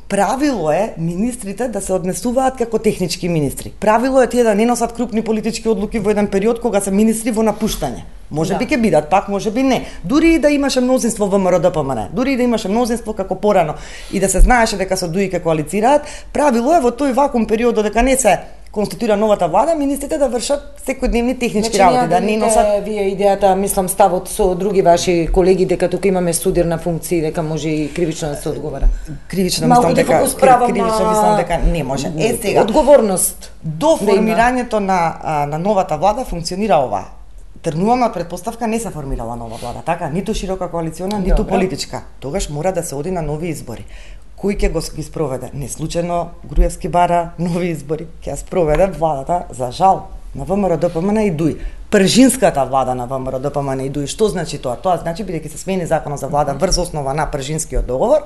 Правило е министрите да се однесуваат како технички министри. Правило е тие да не носат крупни политички одлуки во еден период кога се министри во напуштање. Може да. би ќе бидат, пак може би не. Дури и да имаше мнозинство во МРДПМН, дури и да имаше мнозинство како порано и да се знаеше дека со Дуи ќе коалицираат, правило е во тој вакуум период дека не се конституира новата влада, министрите да вршат секојдневни технички значи, работи, да не носат... Вие идејата, мислам, ставот со други ваши колеги дека тука имаме судир на функции, дека може и кривично да се одговара. Кривично мислам дека кривично мислам дека не може. Е сега одговорност до формирањето на на новата влада функционира ова. Тргнуваме од предпоставка не се формирала нова влада, така, ниту широка коалициона, ниту Добре. политичка. Тогаш мора да се оди на нови избори. Кој ќе го ги спроведе? Не случајно Груевски бара нови избори, ќе спроведе владата, за жал, на ВМРДПМН и Дуи. Пржинската влада на ВМРДПМН и Дуи. Што значи тоа? Тоа значи, бидејќи се смени Законот за влада врз основа на Пржинскиот договор,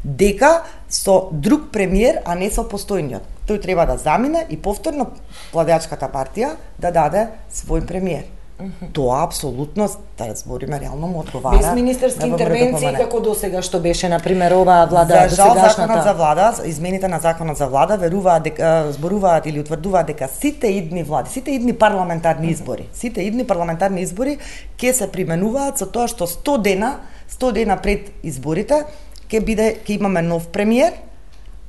дека со друг премиер, а не со постојниот. Тој треба да замине и повторно владеачката партија да даде свој премиер. Mm-hmm. Тоа апсолутно, да збориме, реално му одговара. Без министерски интервенции како досега што беше на пример оваа влада за жал Законот за влада, измените на Законот за влада веруваат дека зборуваат или утврдуваат дека сите идни влади, сите идни парламентарни избори, mm-hmm. сите идни парламентарни избори ќе се применуваат со тоа што сто дена, сто дена пред изборите ќе биде ќе имаме нов премиер,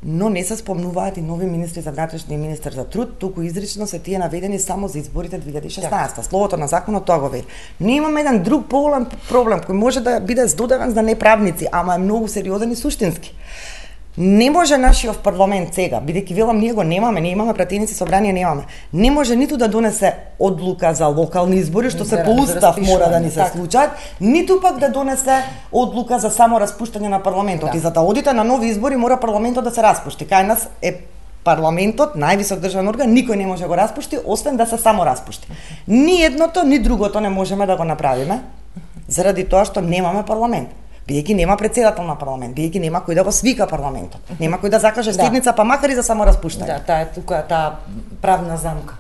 но не се спомнуваат и нови министри за внатрешни и министер за труд, туку изрично се тие наведени само за изборите две илјади и шеснаесета. Словото на законот тоа го вели. Ние имаме еден друг поголем проблем кој може да биде здодевен за неправници, ама е многу сериозен и суштински. Не може нашиот парламент сега, бидејќи велам ние го немаме, ние имаме пратеници, собрание немаме. Не може ниту да донесе одлука за локални избори, што се по устав мора да ни се случат, ниту пак да донесе одлука за само распуштање на парламентот. Да. И за да одите на нови избори мора парламентот да се распушти. Кај нас е парламентот, највисок државен орган, никој не може да го распушти, освен да се само распушти. Ни едното, ни другото не можеме да го направиме, заради тоа што немаме парламент. Биејќи нема председател на парламент, биејќи нема кој да го свика парламентот. Нема кој да закаже седница, па макар и за само распуштање. Да, таа е тука таа правна замка.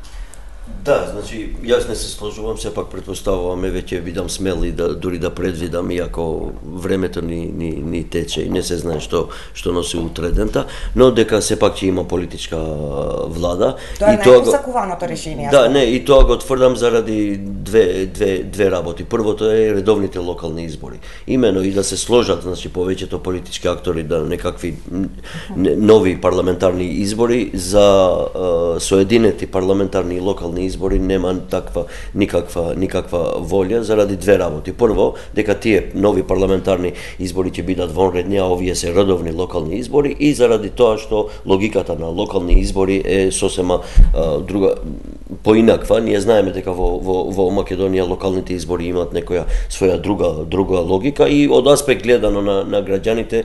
Да, значи, јас не се сложувам, сепак претпоставуваме, веќе видам смели да дури да предвидам, иако времето ни, ни, ни тече и не се знае што што носи утре дента, но дека сепак ќе има политичка влада. Тоа е и тоа најпосакуваното решение. Да, не, и тоа го тврдам заради две, две, две работи. Првото е редовните локални избори. Имено и да се сложат, значи, повеќето политички актори да некакви нови парламентарни избори за соединети парламентарни и локални избори нема таква никаква никаква волја заради две работи. Прво, дека тие нови парламентарни избори ќе бидат вонредни, а овие се редовни локални избори, и заради тоа што логиката на локални избори е сосема а, друга поинаква. Ние знаеме дека во, во, во Македонија локалните избори имаат некоја своја друга друга логика, и од аспект гледано на, на граѓаните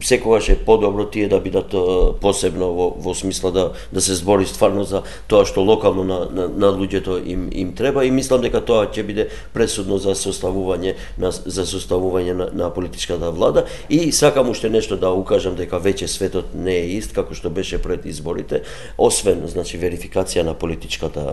секогаш е подобро тие да бидат а, посебно во, во смисла да да се збори стварно за тоа што локално на, на, на луѓето им им треба, и мислам дека тоа ќе биде пресудно за составување на за составување на, на политичката влада. И сакам уште нешто да укажам, дека веќе светот не е ист како што беше пред изборите, освен значи верификација на политичката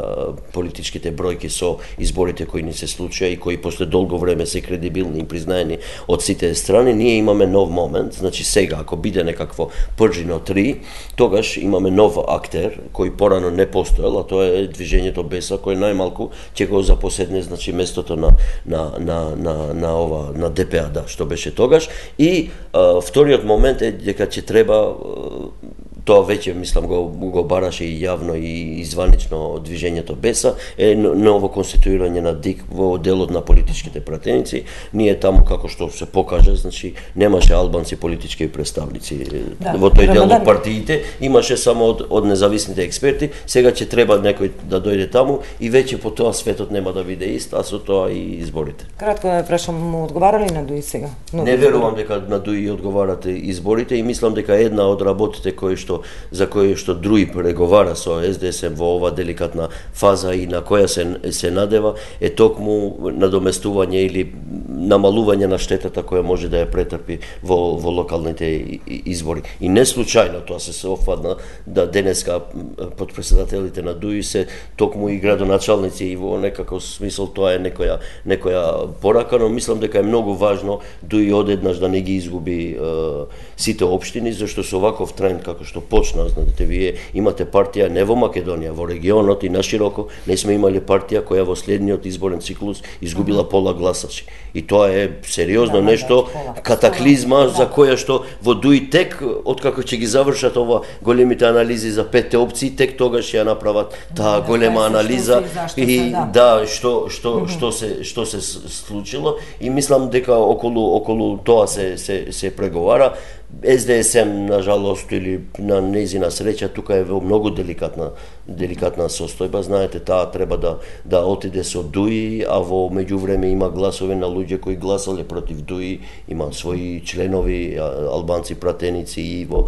политичките бројки со изборите кои ни се случија и кои после долго време се кредибилни и признаени од сите страни. Ние имаме нов момент, значи сега ако биде некакво Пржино три, тогаш имаме нов актер кој порано не постоел, а тоа е движењето Беса, кој најмалку ќе го запоседне значи местото на на на на на ова на Д П А, да, што беше тогаш. И а, вториот момент е дека ќе треба а, тоа веќе мислам го го бараше и јавно и изванично движењето Беса, е ново конституирање на ДИК во делот на политичките пратеници. Ние таму, како што се покажа, значи немаше албанци политички представници да, во тој дел од партиите, имаше само од, од независните експерти. Сега ќе треба некој да дојде таму и веќе по тоа светот нема да биде ист, а со тоа и изборите. Кратко да прашам, му одговарали на Дуи сега? Но не верувам дека на Дуи одговарате изборите, и мислам дека една од работите кои што за кои што Дуи преговара со С Д С М во ова деликатна фаза и на која се се надева е токму надоместување или намалување на штетата која може да ја претрпи во во локалните избори. И не случајно тоа се се офадна да денеска потпредседателите на Дуи се токму и градоначалници, и во некако смисол тоа е некоја некоја порака, но мислам дека е многу важно Дуи одеднаш да не ги изгуби е, сите општини, зашто со ваков тренд како што почна, знаете, вие имате партија не во Македонија, во регионот и нашироко не сме имали партија која во следниот изборен циклус изгубила пола гласачи. И тоа е сериозно да, нешто, да, катаклизма да, за која што во Дуи тек откако ќе ги завршат ова големите анализи за петте опции, тек тогаш ќе ја направат таа да, голема анализа и да, да што што mm -hmm. што се што се случило, и мислам дека околу околу тоа се се се преговара. С Д С М, на жалост или на нејзина среќа, тука е во многу деликатна деликатна состојба. Знаете, таа треба да да отиде со Дуи, а во меѓувреме има гласови на луѓе кои гласале против Дуи, има своји членови албанци пратеници и во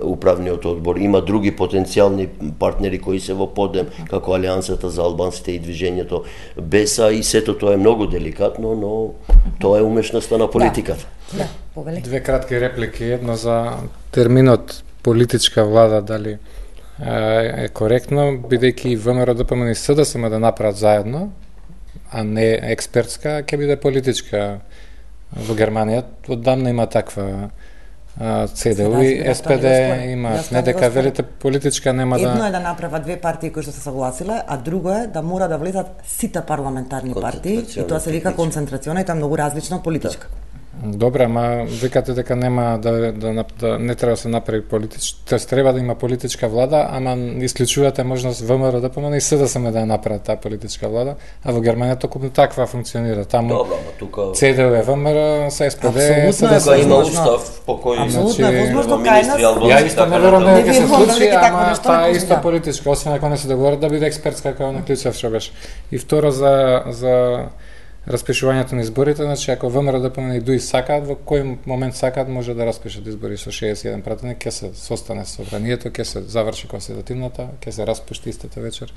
управниот одбор. Има други потенцијални партнери кои се во подем, како Алијансата за албанците и движењето Беса, и сето тоа е многу деликатно, но тоа е умешноста на политиката. Да, повели. Две кратки реплики. Едно за терминот политичка влада, дали е коректно, бидејќи ВМРО Д П М и С Д С М да направат заедно, а не експертска, ќе биде политичка. Во Германија оддамна има таква Це Д У и С П Д има, не дека велите политичка нема да... Едно е да направат две партии кои што се согласиле, а друго е да мора да влезат сите парламентарни партии, и тоа се вика концентрациона, и тоа е многу различно од политичка. Добре, ама викате дека нема да, да, да не треба да се направи политичка, тоест треба да има политичка влада, ама исклучувате можност ВМРО Д П М и С Д С М да ја направат таа политичка влада, а во Германија токму таква функционира. Таму Добра, тука Це Д У е ВМРО, С С П Д, С Д С М има устав по кој апсолутно е возможно кај нас. Ја исто не верувам дека се случи, ама таа е исто политичка, освен ако не се договорат да биде експертска како на Клучев што беше. И второ за за распишувањето на изборите, значи ако ВМРО да помени дуи сакаат, во кој момент сакаат може да распишат избори со шеесет и еден пратеник, ќе се состане собранието, ќе се заврши конститутивната, ќе се распушти истата вечер.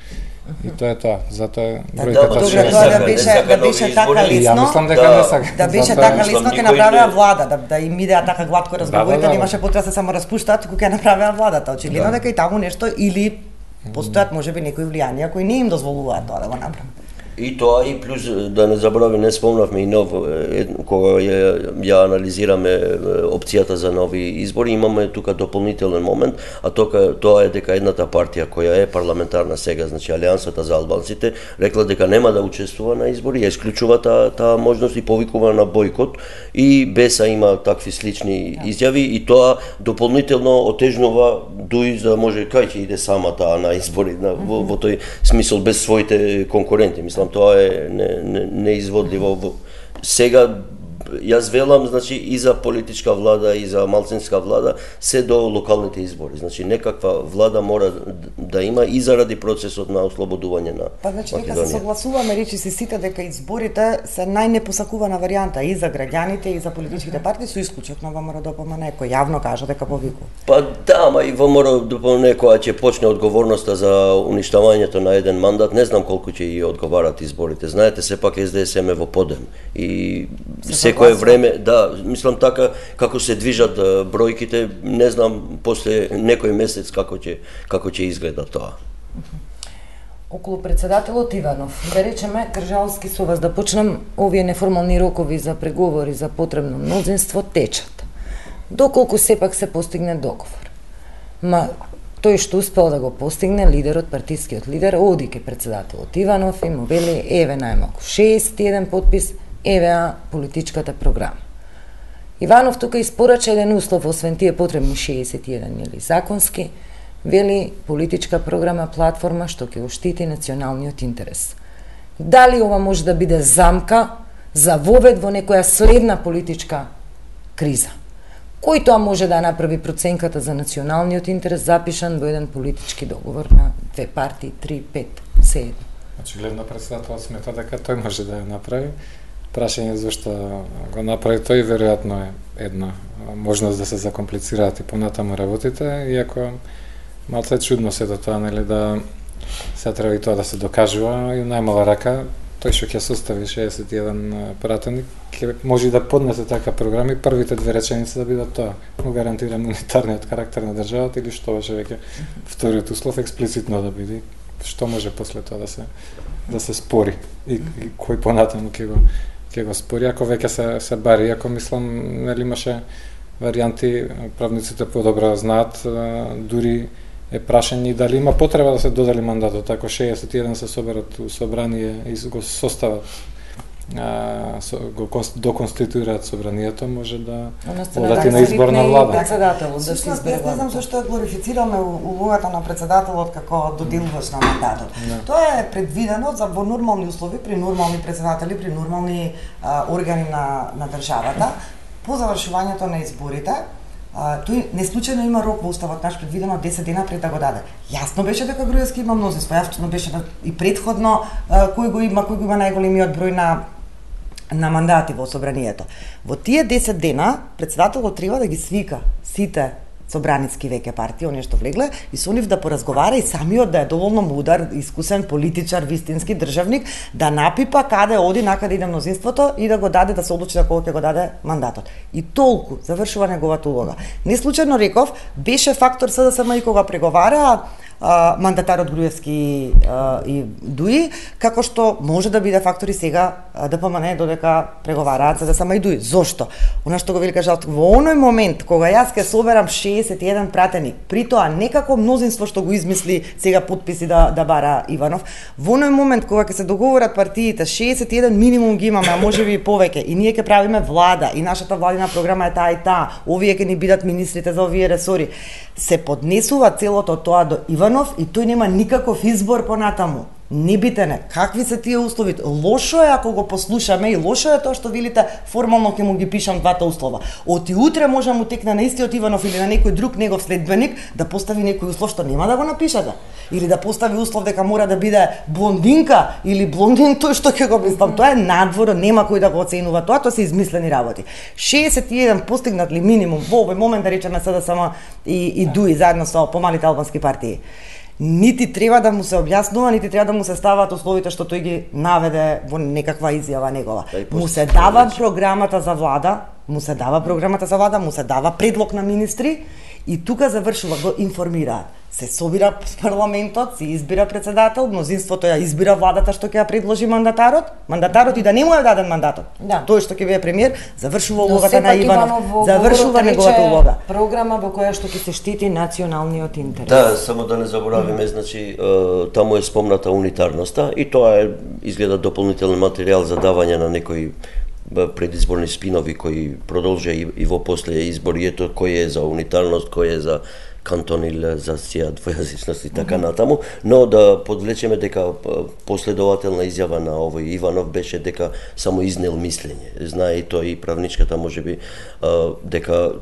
И тоа е тоа. Затоа бројката добро, тоа да беше да беше така лесно. Ја мислам дека не сака. Да беше така лесно ќе направеа влада, да да им идеа така глатко разговорите, немаше потреба се само распуштаат, кога ќе направеа владата. Очигледно дека и таму нешто или постојат можеби некои влијанија кои не им дозволуваат тоа да го направат. И тоа и плюс да не заборави, не спомнавме и нов кога ја, ја анализираме опцијата за нови избори, имаме тука дополнителен момент, а тока тоа е дека едната партија која е парламентарна сега, значи Алијансата за албанците, рекла дека нема да учествува на избори, ја исклучува таа та можност и повикува на бојкот, и Беса има такви слични изјави и тоа дополнително отежнува дуи за да може кај ќе иде сама таа на избори, на, во, во тој смисол без своите конкуренти, мислам тоа е не, не, неизводливо. Сега јас велам, значи, и за политичка влада, и за малцинска влада, се до локалните избори. Значи, некаква влада мора да има и заради процесот на ослободување на Па, значи, Македонија. нека се согласуваме, речи си сите, дека изборите се најнепосакувана варијанта и за граѓаните, и за политичките партии, со исклучок на ВМРО Д П М Н, кој јавно кажа дека повикува. Па да, ама и ВМРО Д П М Н која ќе почне одговорноста за уништавањето на еден мандат, не знам колку ќе и одговарат изборите. Знаете, сепак С Д С М е во подем. И секое време, да, мислам така, како се движат бројките, не знам после некој месец како ќе како ќе изгледа тоа. Околу председателот Иванов, да речеме, Кржалски со вас да почнам, овие неформални рокови за преговори за потребно мнозинство течат. Доколку сепак се постигне договор. Ма тој што успел да го постигне, лидерот, партискиот лидер, оди ке председателот Иванов и му вели, еве најмалку шеесет и еден подпис, еве политичката програма. Иванов тука испорача еден услов, освен тие потребни шеесет и еден или законски, вели политичка програма, платформа што ќе го штити националниот интерес. Дали ова може да биде замка за вовед во некоја следна политичка криза? Кој тоа може да направи проценката за националниот интерес запишан во еден политички договор на две партии, три, пет, се едно? Очигледно председателот смета дека тој може да ја направи. Прашање зашто го направи тој, веројатно е една можност да се закомплицираат и понатаму работите, иако малце чудно се до тоа, нели, да се треба и тоа да се докажува и најмала рака тој што ќе состави шеесет и еден пратеник ќе може да поднесе така програми, првите две реченици да бидат тоа: му гарантирам унитарниот карактер на државата, или што беше веќе вториот услов експлицитно да биде, што може после тоа да се да се спори и, и кој понатаму ќе го ќе го спори, ако веќе се се бари, ако мислам, нели имаше варијанти, правниците подобро знаат, дури е прашање дали има потреба да се додели мандатот, ако шеесет и еден се соберат у собрание и го состават, а, со, го доконституираат собранието, може да одати на изборна влада. Председателот да се избере. Не знам зашто глорифицираме улогата на председателот како доделувач на мандатот. Не. Тоа е предвидено за во нормални услови, при нормални председатели, при нормални а, органи на на државата, по завршувањето на изборите. А, тој не случајно има рок во уставот наш предвидено десет дена пред да го даде. Јасно беше дека Груевски има мнозинство, јасно беше и предходно а, кој го има, кој го има најголемиот број на на мандати во собранието. Во тие десет дена председателот треба да ги свика сите собраницки веќе партии, оние што влегле, и со нив да поразговара и самиот да е доволно мудар, искусен политичар, вистински државник, да напипа каде оди, накаде иде мнозинството и да го даде, да се одлучи за кого ќе го даде мандатот. И толку завршува неговата улога. Не случајно реков, беше фактор С Д С М и кога преговара мандатарот Груевски а, и Дуи, како што може да биде фактор и сега Д П М Н додека преговараат С Д С М и Дуи. Зошто? Она што го вели кажа, во оној момент кога јас ќе соберам шеесет и еден пратеник, при тоа некако мнозинство што го измисли сега подписи да да бара Иванов, во оној момент кога ќе се договорат партиите, шеесет и еден минимум ги имаме, а можеби и повеќе, и ние ќе правиме влада, и нашата владина програма е таа и таа, овие ќе ни бидат министрите за овие ресори, се поднесува целото тоа до Иванов и тој нема никаков избор понатаму. Небитене, какви се тие услови? Лошо е ако го послушаме и лошо е тоа што велите формално ќе му ги пишам двата услова. Оти утре може му текне на истиот Иванов или на некој друг негов следбеник да постави некој услов што нема да го напишете. Или да постави услов дека мора да биде блондинка или блондин, тој што ќе го мислам. Тоа е надвор, нема кој да го оценува тоа, тоа се измислени работи. шеесет и еден постигнат ли минимум во овој момент, да речеме сега само и, и ДУИ заедно со помалите албански партии. Нити треба да му се објаснува, нити треба да му се ставаат условите што тој ги наведе во некаква изјава негова. Му се дава програмата за влада, му се дава програмата за влада, му се дава предлог на министри и тука завршува, го информираат. Се собира парламентот, се избира председател, мнозинството ја избира владата што ќе ја предложи мандатарот, мандатарот и да не му е даден мандатот. Да. Тој што ќе биде премиер, завршува улогата на Иванов, завршува неговата улога. Програма во која што ќе се штити националниот интерес. Да, само да не заборавиме, mm. значи таму е спомната унитарноста и тоа е изгледа дополнителен материјал за давање на некои предизборни спинови кои продолжа и, и во после избори, ето кој е за унитарност, кој е за кантон или за сија двојазичност и така натаму, но да подвлечеме дека последователна изјава на овој Иванов беше дека само изнел мислење. Знае и тој и правничката можеби дека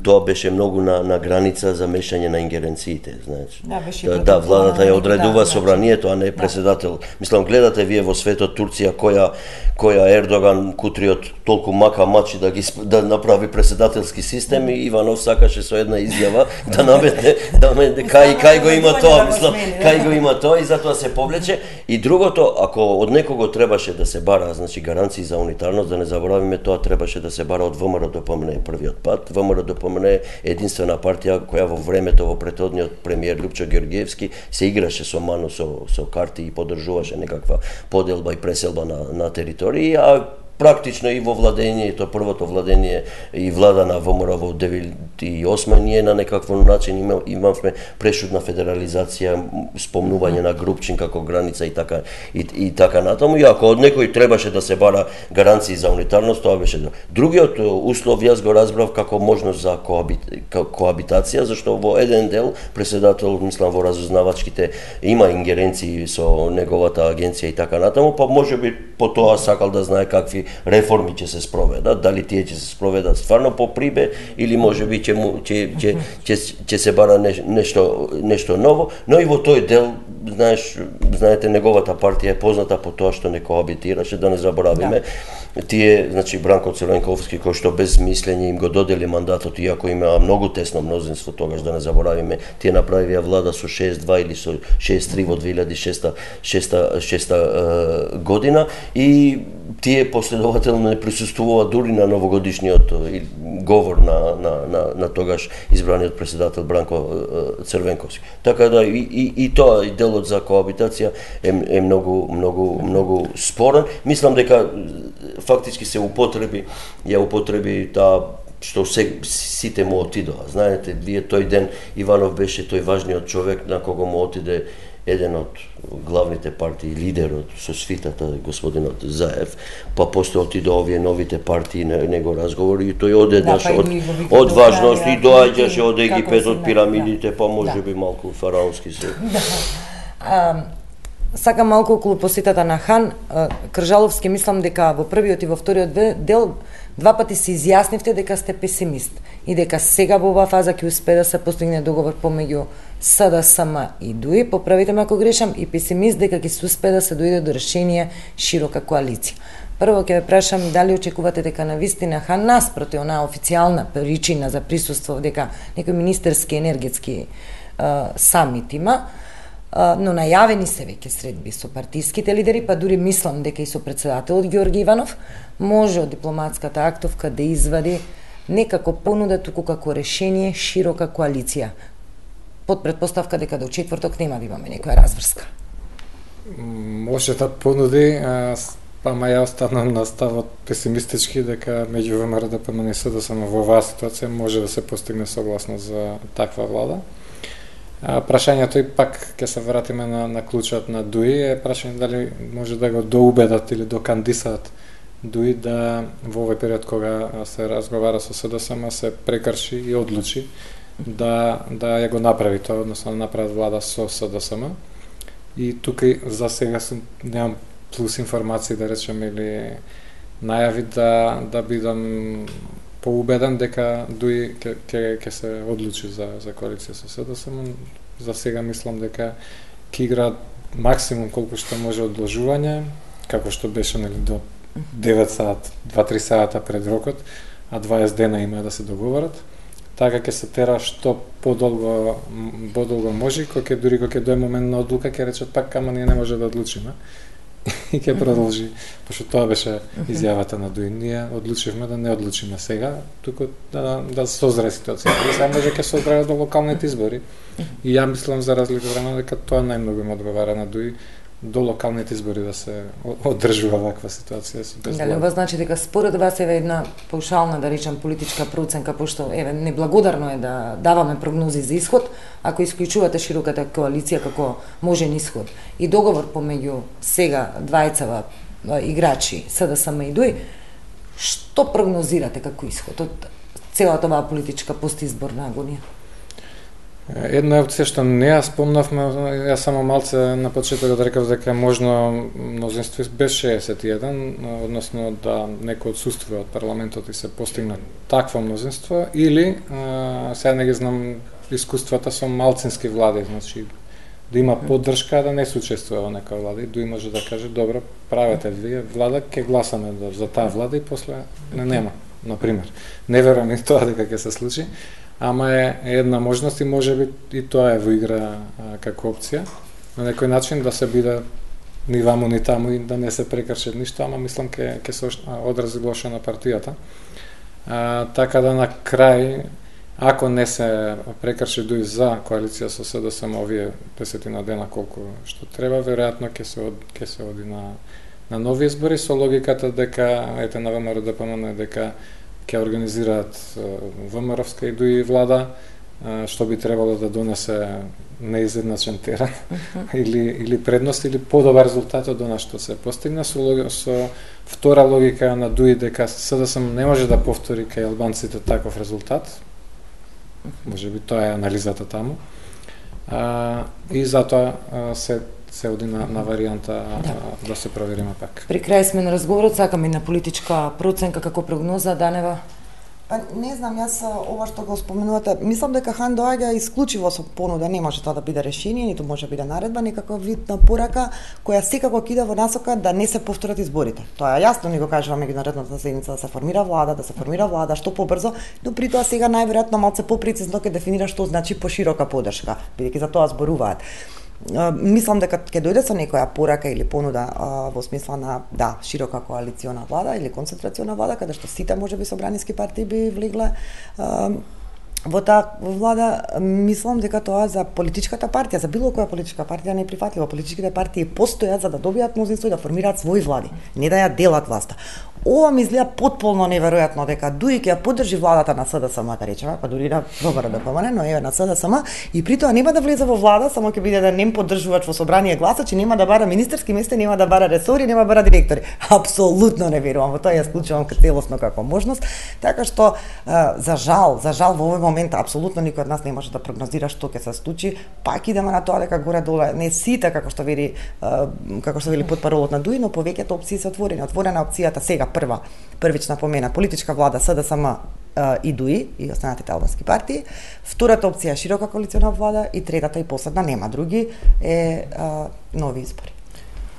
тоа беше многу на, на граница за мешање на ингеренциите, знаеш. Да, беше да, да, владата ја одредува собранието, а не преседател. Мислам, гледате вие во светот Турција која која Ердоган Кутриот толку мака мачи да ги да направи преседателски систем и Иванов сакаше со една изјава да наметне да ме кај кај го има тоа, мислам, кај го има тоа и затоа се повлече. И другото, ако од некого требаше да се бара, значи гаранции за унитарност, да не заборавиме, тоа требаше да се бара од ВМРО ДПМН првиот пат. ВМРО ДПМН е единствена партија која во времето во претходниот премиер Лјупчо Георгиевски се играше со ману со со карти и поддржуваше некаква поделба и преселба на на територија, а практично и во владењето, првото владење и влада на ВМРО во деветдесет и осма ние на некаков начин има, имавме прешутна федерализација, спомнување на Групчин како граница и така и, и така натаму. И ако од некој требаше да се бара гаранции за унитарност, тоа беше другиот услов, јас го разбрав како можност за коабит, коабитација, зашто во еден дел преседател, мислам, во разузнавачките има ингеренции со неговата агенција и така натаму, па можеби по тоа сакал да знае какви реформи ќе се спроведат, дали тие ќе се спроведат стварно по прибе или можеби ќе му ќе ќе ќе ќе се бара нешто нешто ново, но и во тој дел, знаеш, знаете, неговата партија е позната по тоа што не коабитираше, да не заборавиме. Да. Тие, значи Бранко Црвенковски, кој што без мислење им го додели мандатот, иако има многу тесно мнозинство тогаш, да не заборавиме, тие направија влада со шеесет два или со шеесет три во две илјади и шеста година и тие последователно не присуствуваат дури на новогодишниот говор на, на, на, на тогаш избраниот председател Бранко Црвенковски. Така да и, и, и тоа и делот за коабитација е, е многу, многу, многу спорен. Мислам дека фактички се употреби, ја употреби таа што се, сите му отидоа. Знаете, вие тој ден Иванов беше тој важниот човек на кого му отиде еден од главните партии, лидерот со свитата, господинот Заев, па после отидоа овие новите партии на него разговори и тој одеднаш да, од, од важност и доаѓаше од Египет, од пирамидите, па може би малку фараонски се. Да. Сакам малку околу посетата на Хан. Кржаловски, мислам дека во првиот и во вториот дел два пати се изјаснивте дека сте песимист и дека сега во оваа фаза ќе успее да се постигне договор помеѓу СДСМ и ДУИ, поправите ме ако грешам, и песимист дека ќе се успее да се дојде до решение широка коалиција. Прво ќе ве прашам дали очекувате дека на вистина Хан наспроти онаа официјална причина за присуство дека некој министерски енергетски uh, самит има, uh, но најавени се веќе средби со партиските лидери, па дури мислам дека и со председателот Ѓорги Иванов може од дипломатската актовка да извади некако понуда туку како решение широка коалиција, под предпоставка дека до четврток нема да имаме некоја разврска. Може да понуди, па ма ја останам на ставот песимистички дека меѓу ВМРО ДПМН и СДСМ во оваа ситуација може да се постигне согласност за таква влада. А, прашањето и пак ќе се вратиме на, на клучот на ДУИ, е прашање дали може да го доубедат или докандисаат ДУИ да во овој период кога се разговара со СДСМ се прекрши и одлучи да да ја го направи тоа, односно да направат влада со СДСМ. И тука за сега сум немам плюс информации да речем или најави да да бидам поубеден дека дуи ќе ќе ќе се одлучи за за коалиција со СДСМ. За сега мислам дека ќе игра максимум колку што може одложување, како што беше нели до девет сати, два-три сата пред рокот, а дваесет дена има да се договорат. Така ќе се тера што подолго подолго може, кога ќе дури кога ќе дое момент на одлука ќе речат пак ама ние не може да одлучиме. И ќе продолжи, пошто тоа беше изјавата на Дуин. Ние одлучивме да не одлучиме сега, туку да да созре ситуацијата. Сега може ќе се одбрава до локалните избори. И ја мислам за разлика од време дека тоа најмногу им одговара на Дуи, до локалните избори да се одржува ваква ситуација со без. Дали ова значи дека според вас еве една паушална, да речем, политичка проценка, пошто еве неблагодарно е да даваме прогнози за исход, ако исклучувате широката коалиција како можен исход и договор помеѓу сега двајцава играчи СДСМ и Дуи, што прогнозирате како исход од целата оваа политичка постизборна агонија? Една опција што не ја спомнавме, ја само малце на почетокот рекав дека можно мнозинство без шеесет и еден, односно да некој отсуствува од парламентот и се постигне такво мнозинство, или а, сега не ги знам искуствата со малцински влади, значи да има поддршка да не се учествува во некоја влада и Дуи може да каже добро, правете вие влада, ќе гласаме за таа влада и после не нема, на пример. Не верувам и тоа дека ќе се случи. Ама е една можност и може би и тоа е во игра а, како опција. На некој начин да се биде ни ваму ни таму и да не се прекрши ништо, ама мислам ке ке се одрази лошо на партијата. А, така да на крај, ако не се прекрши Дуи за коалиција со СДСМ овие десетина дена колку што треба, веројатно ќе се од, ќе се оди на на нови избори со логиката дека ете на ВМРО Д П М Н дека ќе организираат ВМРО-вска и Дуи влада, што би требало да донесе неизедначен терен uh-huh. или или предност или подобар резултат од она што се постигна со со втора логика на Дуи дека СДСМ не може да повтори кај албанците таков резултат. Uh-huh. Може би тоа е анализата таму. А, и затоа а, се се оди на, на варијанта да. да се провериме пак. При крај сме на разговорот, сакаме на политичка проценка како прогноза, Данева? Па не знам, јас ова што го споменувате, мислам дека Хан доаѓа исклучиво со понуда, не може тоа да биде решение, ниту може биде наредба, некаков вид на порака која секако кида во насока да не се повторат изборите. Тоа е јасно, ни го кажува меѓународната седница да се формира влада, да се формира влада што побрзо, но при тоа сега најверојатно малце попрецизно ќе дефинира што значи поширока поддршка, бидејќи за тоа зборуваат. Uh, мислам дека ќе дојде со некоја порака или понуда uh, во смисла на да, широка коалициона влада или концентрациона влада, каде што сите можеби собраниски партии би влегле uh, во таа влада. Мислам дека тоа за политичката партија, за било која политичка партија не е прифатливо. Политичките партии постојат за да добијат мнозинство и да формираат своји влади, не да ја делат власта. Ова ми изгледа потполно неверојатно дека Дуи ќе ја поддржи владата на СДСМ, да речеме, па дури на ВМРО Д П М Н, но еве на СДСМ и при тоа нема да влезе во влада, само ќе биде да нем поддржувач во собрание гласачи, нема да бара министерски места, нема да бара ресори, нема да бара директори. Апсолутно не верувам во тоа, ја склучувам како целосно како можност, така што за жал, за жал во овој момент апсолутно никој од нас не може да прогнозира што ќе се случи. Пак идеме на тоа дека горе доле не сите како што вели како што вели потпаролот на Дуи, но повеќето опции се отворени. Отворена опцијата сега прва, првична помена, политичка влада СДСМ и Дуи и останатите албански партии. Втората опција е широка коалициона влада и третата и последна, нема други, е а, нови избори.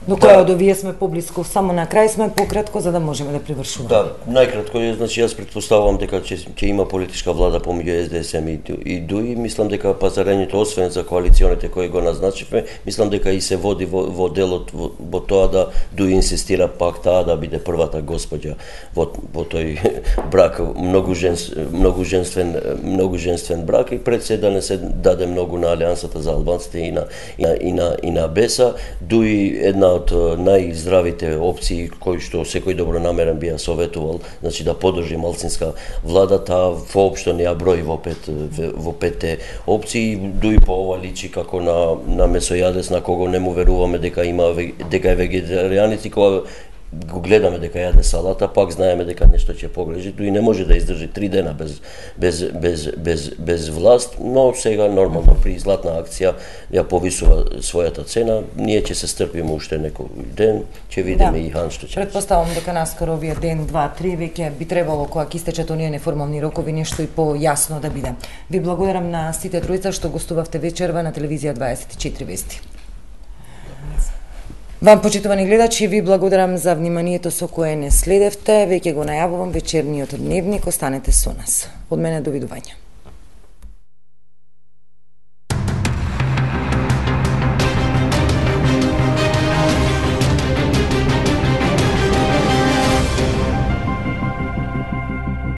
До која од овие сме поблиску, само на крај сме пократко за да можеме да привршуваме. Да, најкратко е, значи јас претпоставувам дека ќе ќе има политичка влада помеѓу С Д С М и Дуи, мислам дека пазарењето освен за коалиционите кои го назначивме, мислам дека и се води во, во делот во, во тоа да Дуи инсистира пак таа да биде првата госпоѓа во во тој брак, многу женс, многу женствен, многу женствен брак и пред се да не се даде многу на алијансата за албанците и на и на и на, и на Беса. Дуи една од најздравите опции кои што секој добронамерен би ја советувал, значи да поддржи малцинска влада, таа воопшто не ја брои во пет во петте опции. Дуи по ова личи како на на месојадес на кого не му веруваме дека има дека е вегетаријанец и кога го гледаме дека јаде салата, пак знаеме дека нешто ќе погрежи, тој не може да издржи три дена без без без без без власт, но сега нормално при златна акција ја повисува својата цена, ние ќе се стрпиме уште некој ден, ќе видиме да. И хан што ќе. Предпоставувам дека наскоро овие ден, два, три веќе би требало кога ќе истечат оние неформални рокови нешто и појасно да биде. Ви благодарам на сите тројца што гостувавте вечерва на телевизија дваесет и четири вести. Вам, почитувани гледачи, ви благодарам за вниманието со кое не следевте. Веќе го најавувам вечерниот дневник, останете со нас. Од мене, довидување.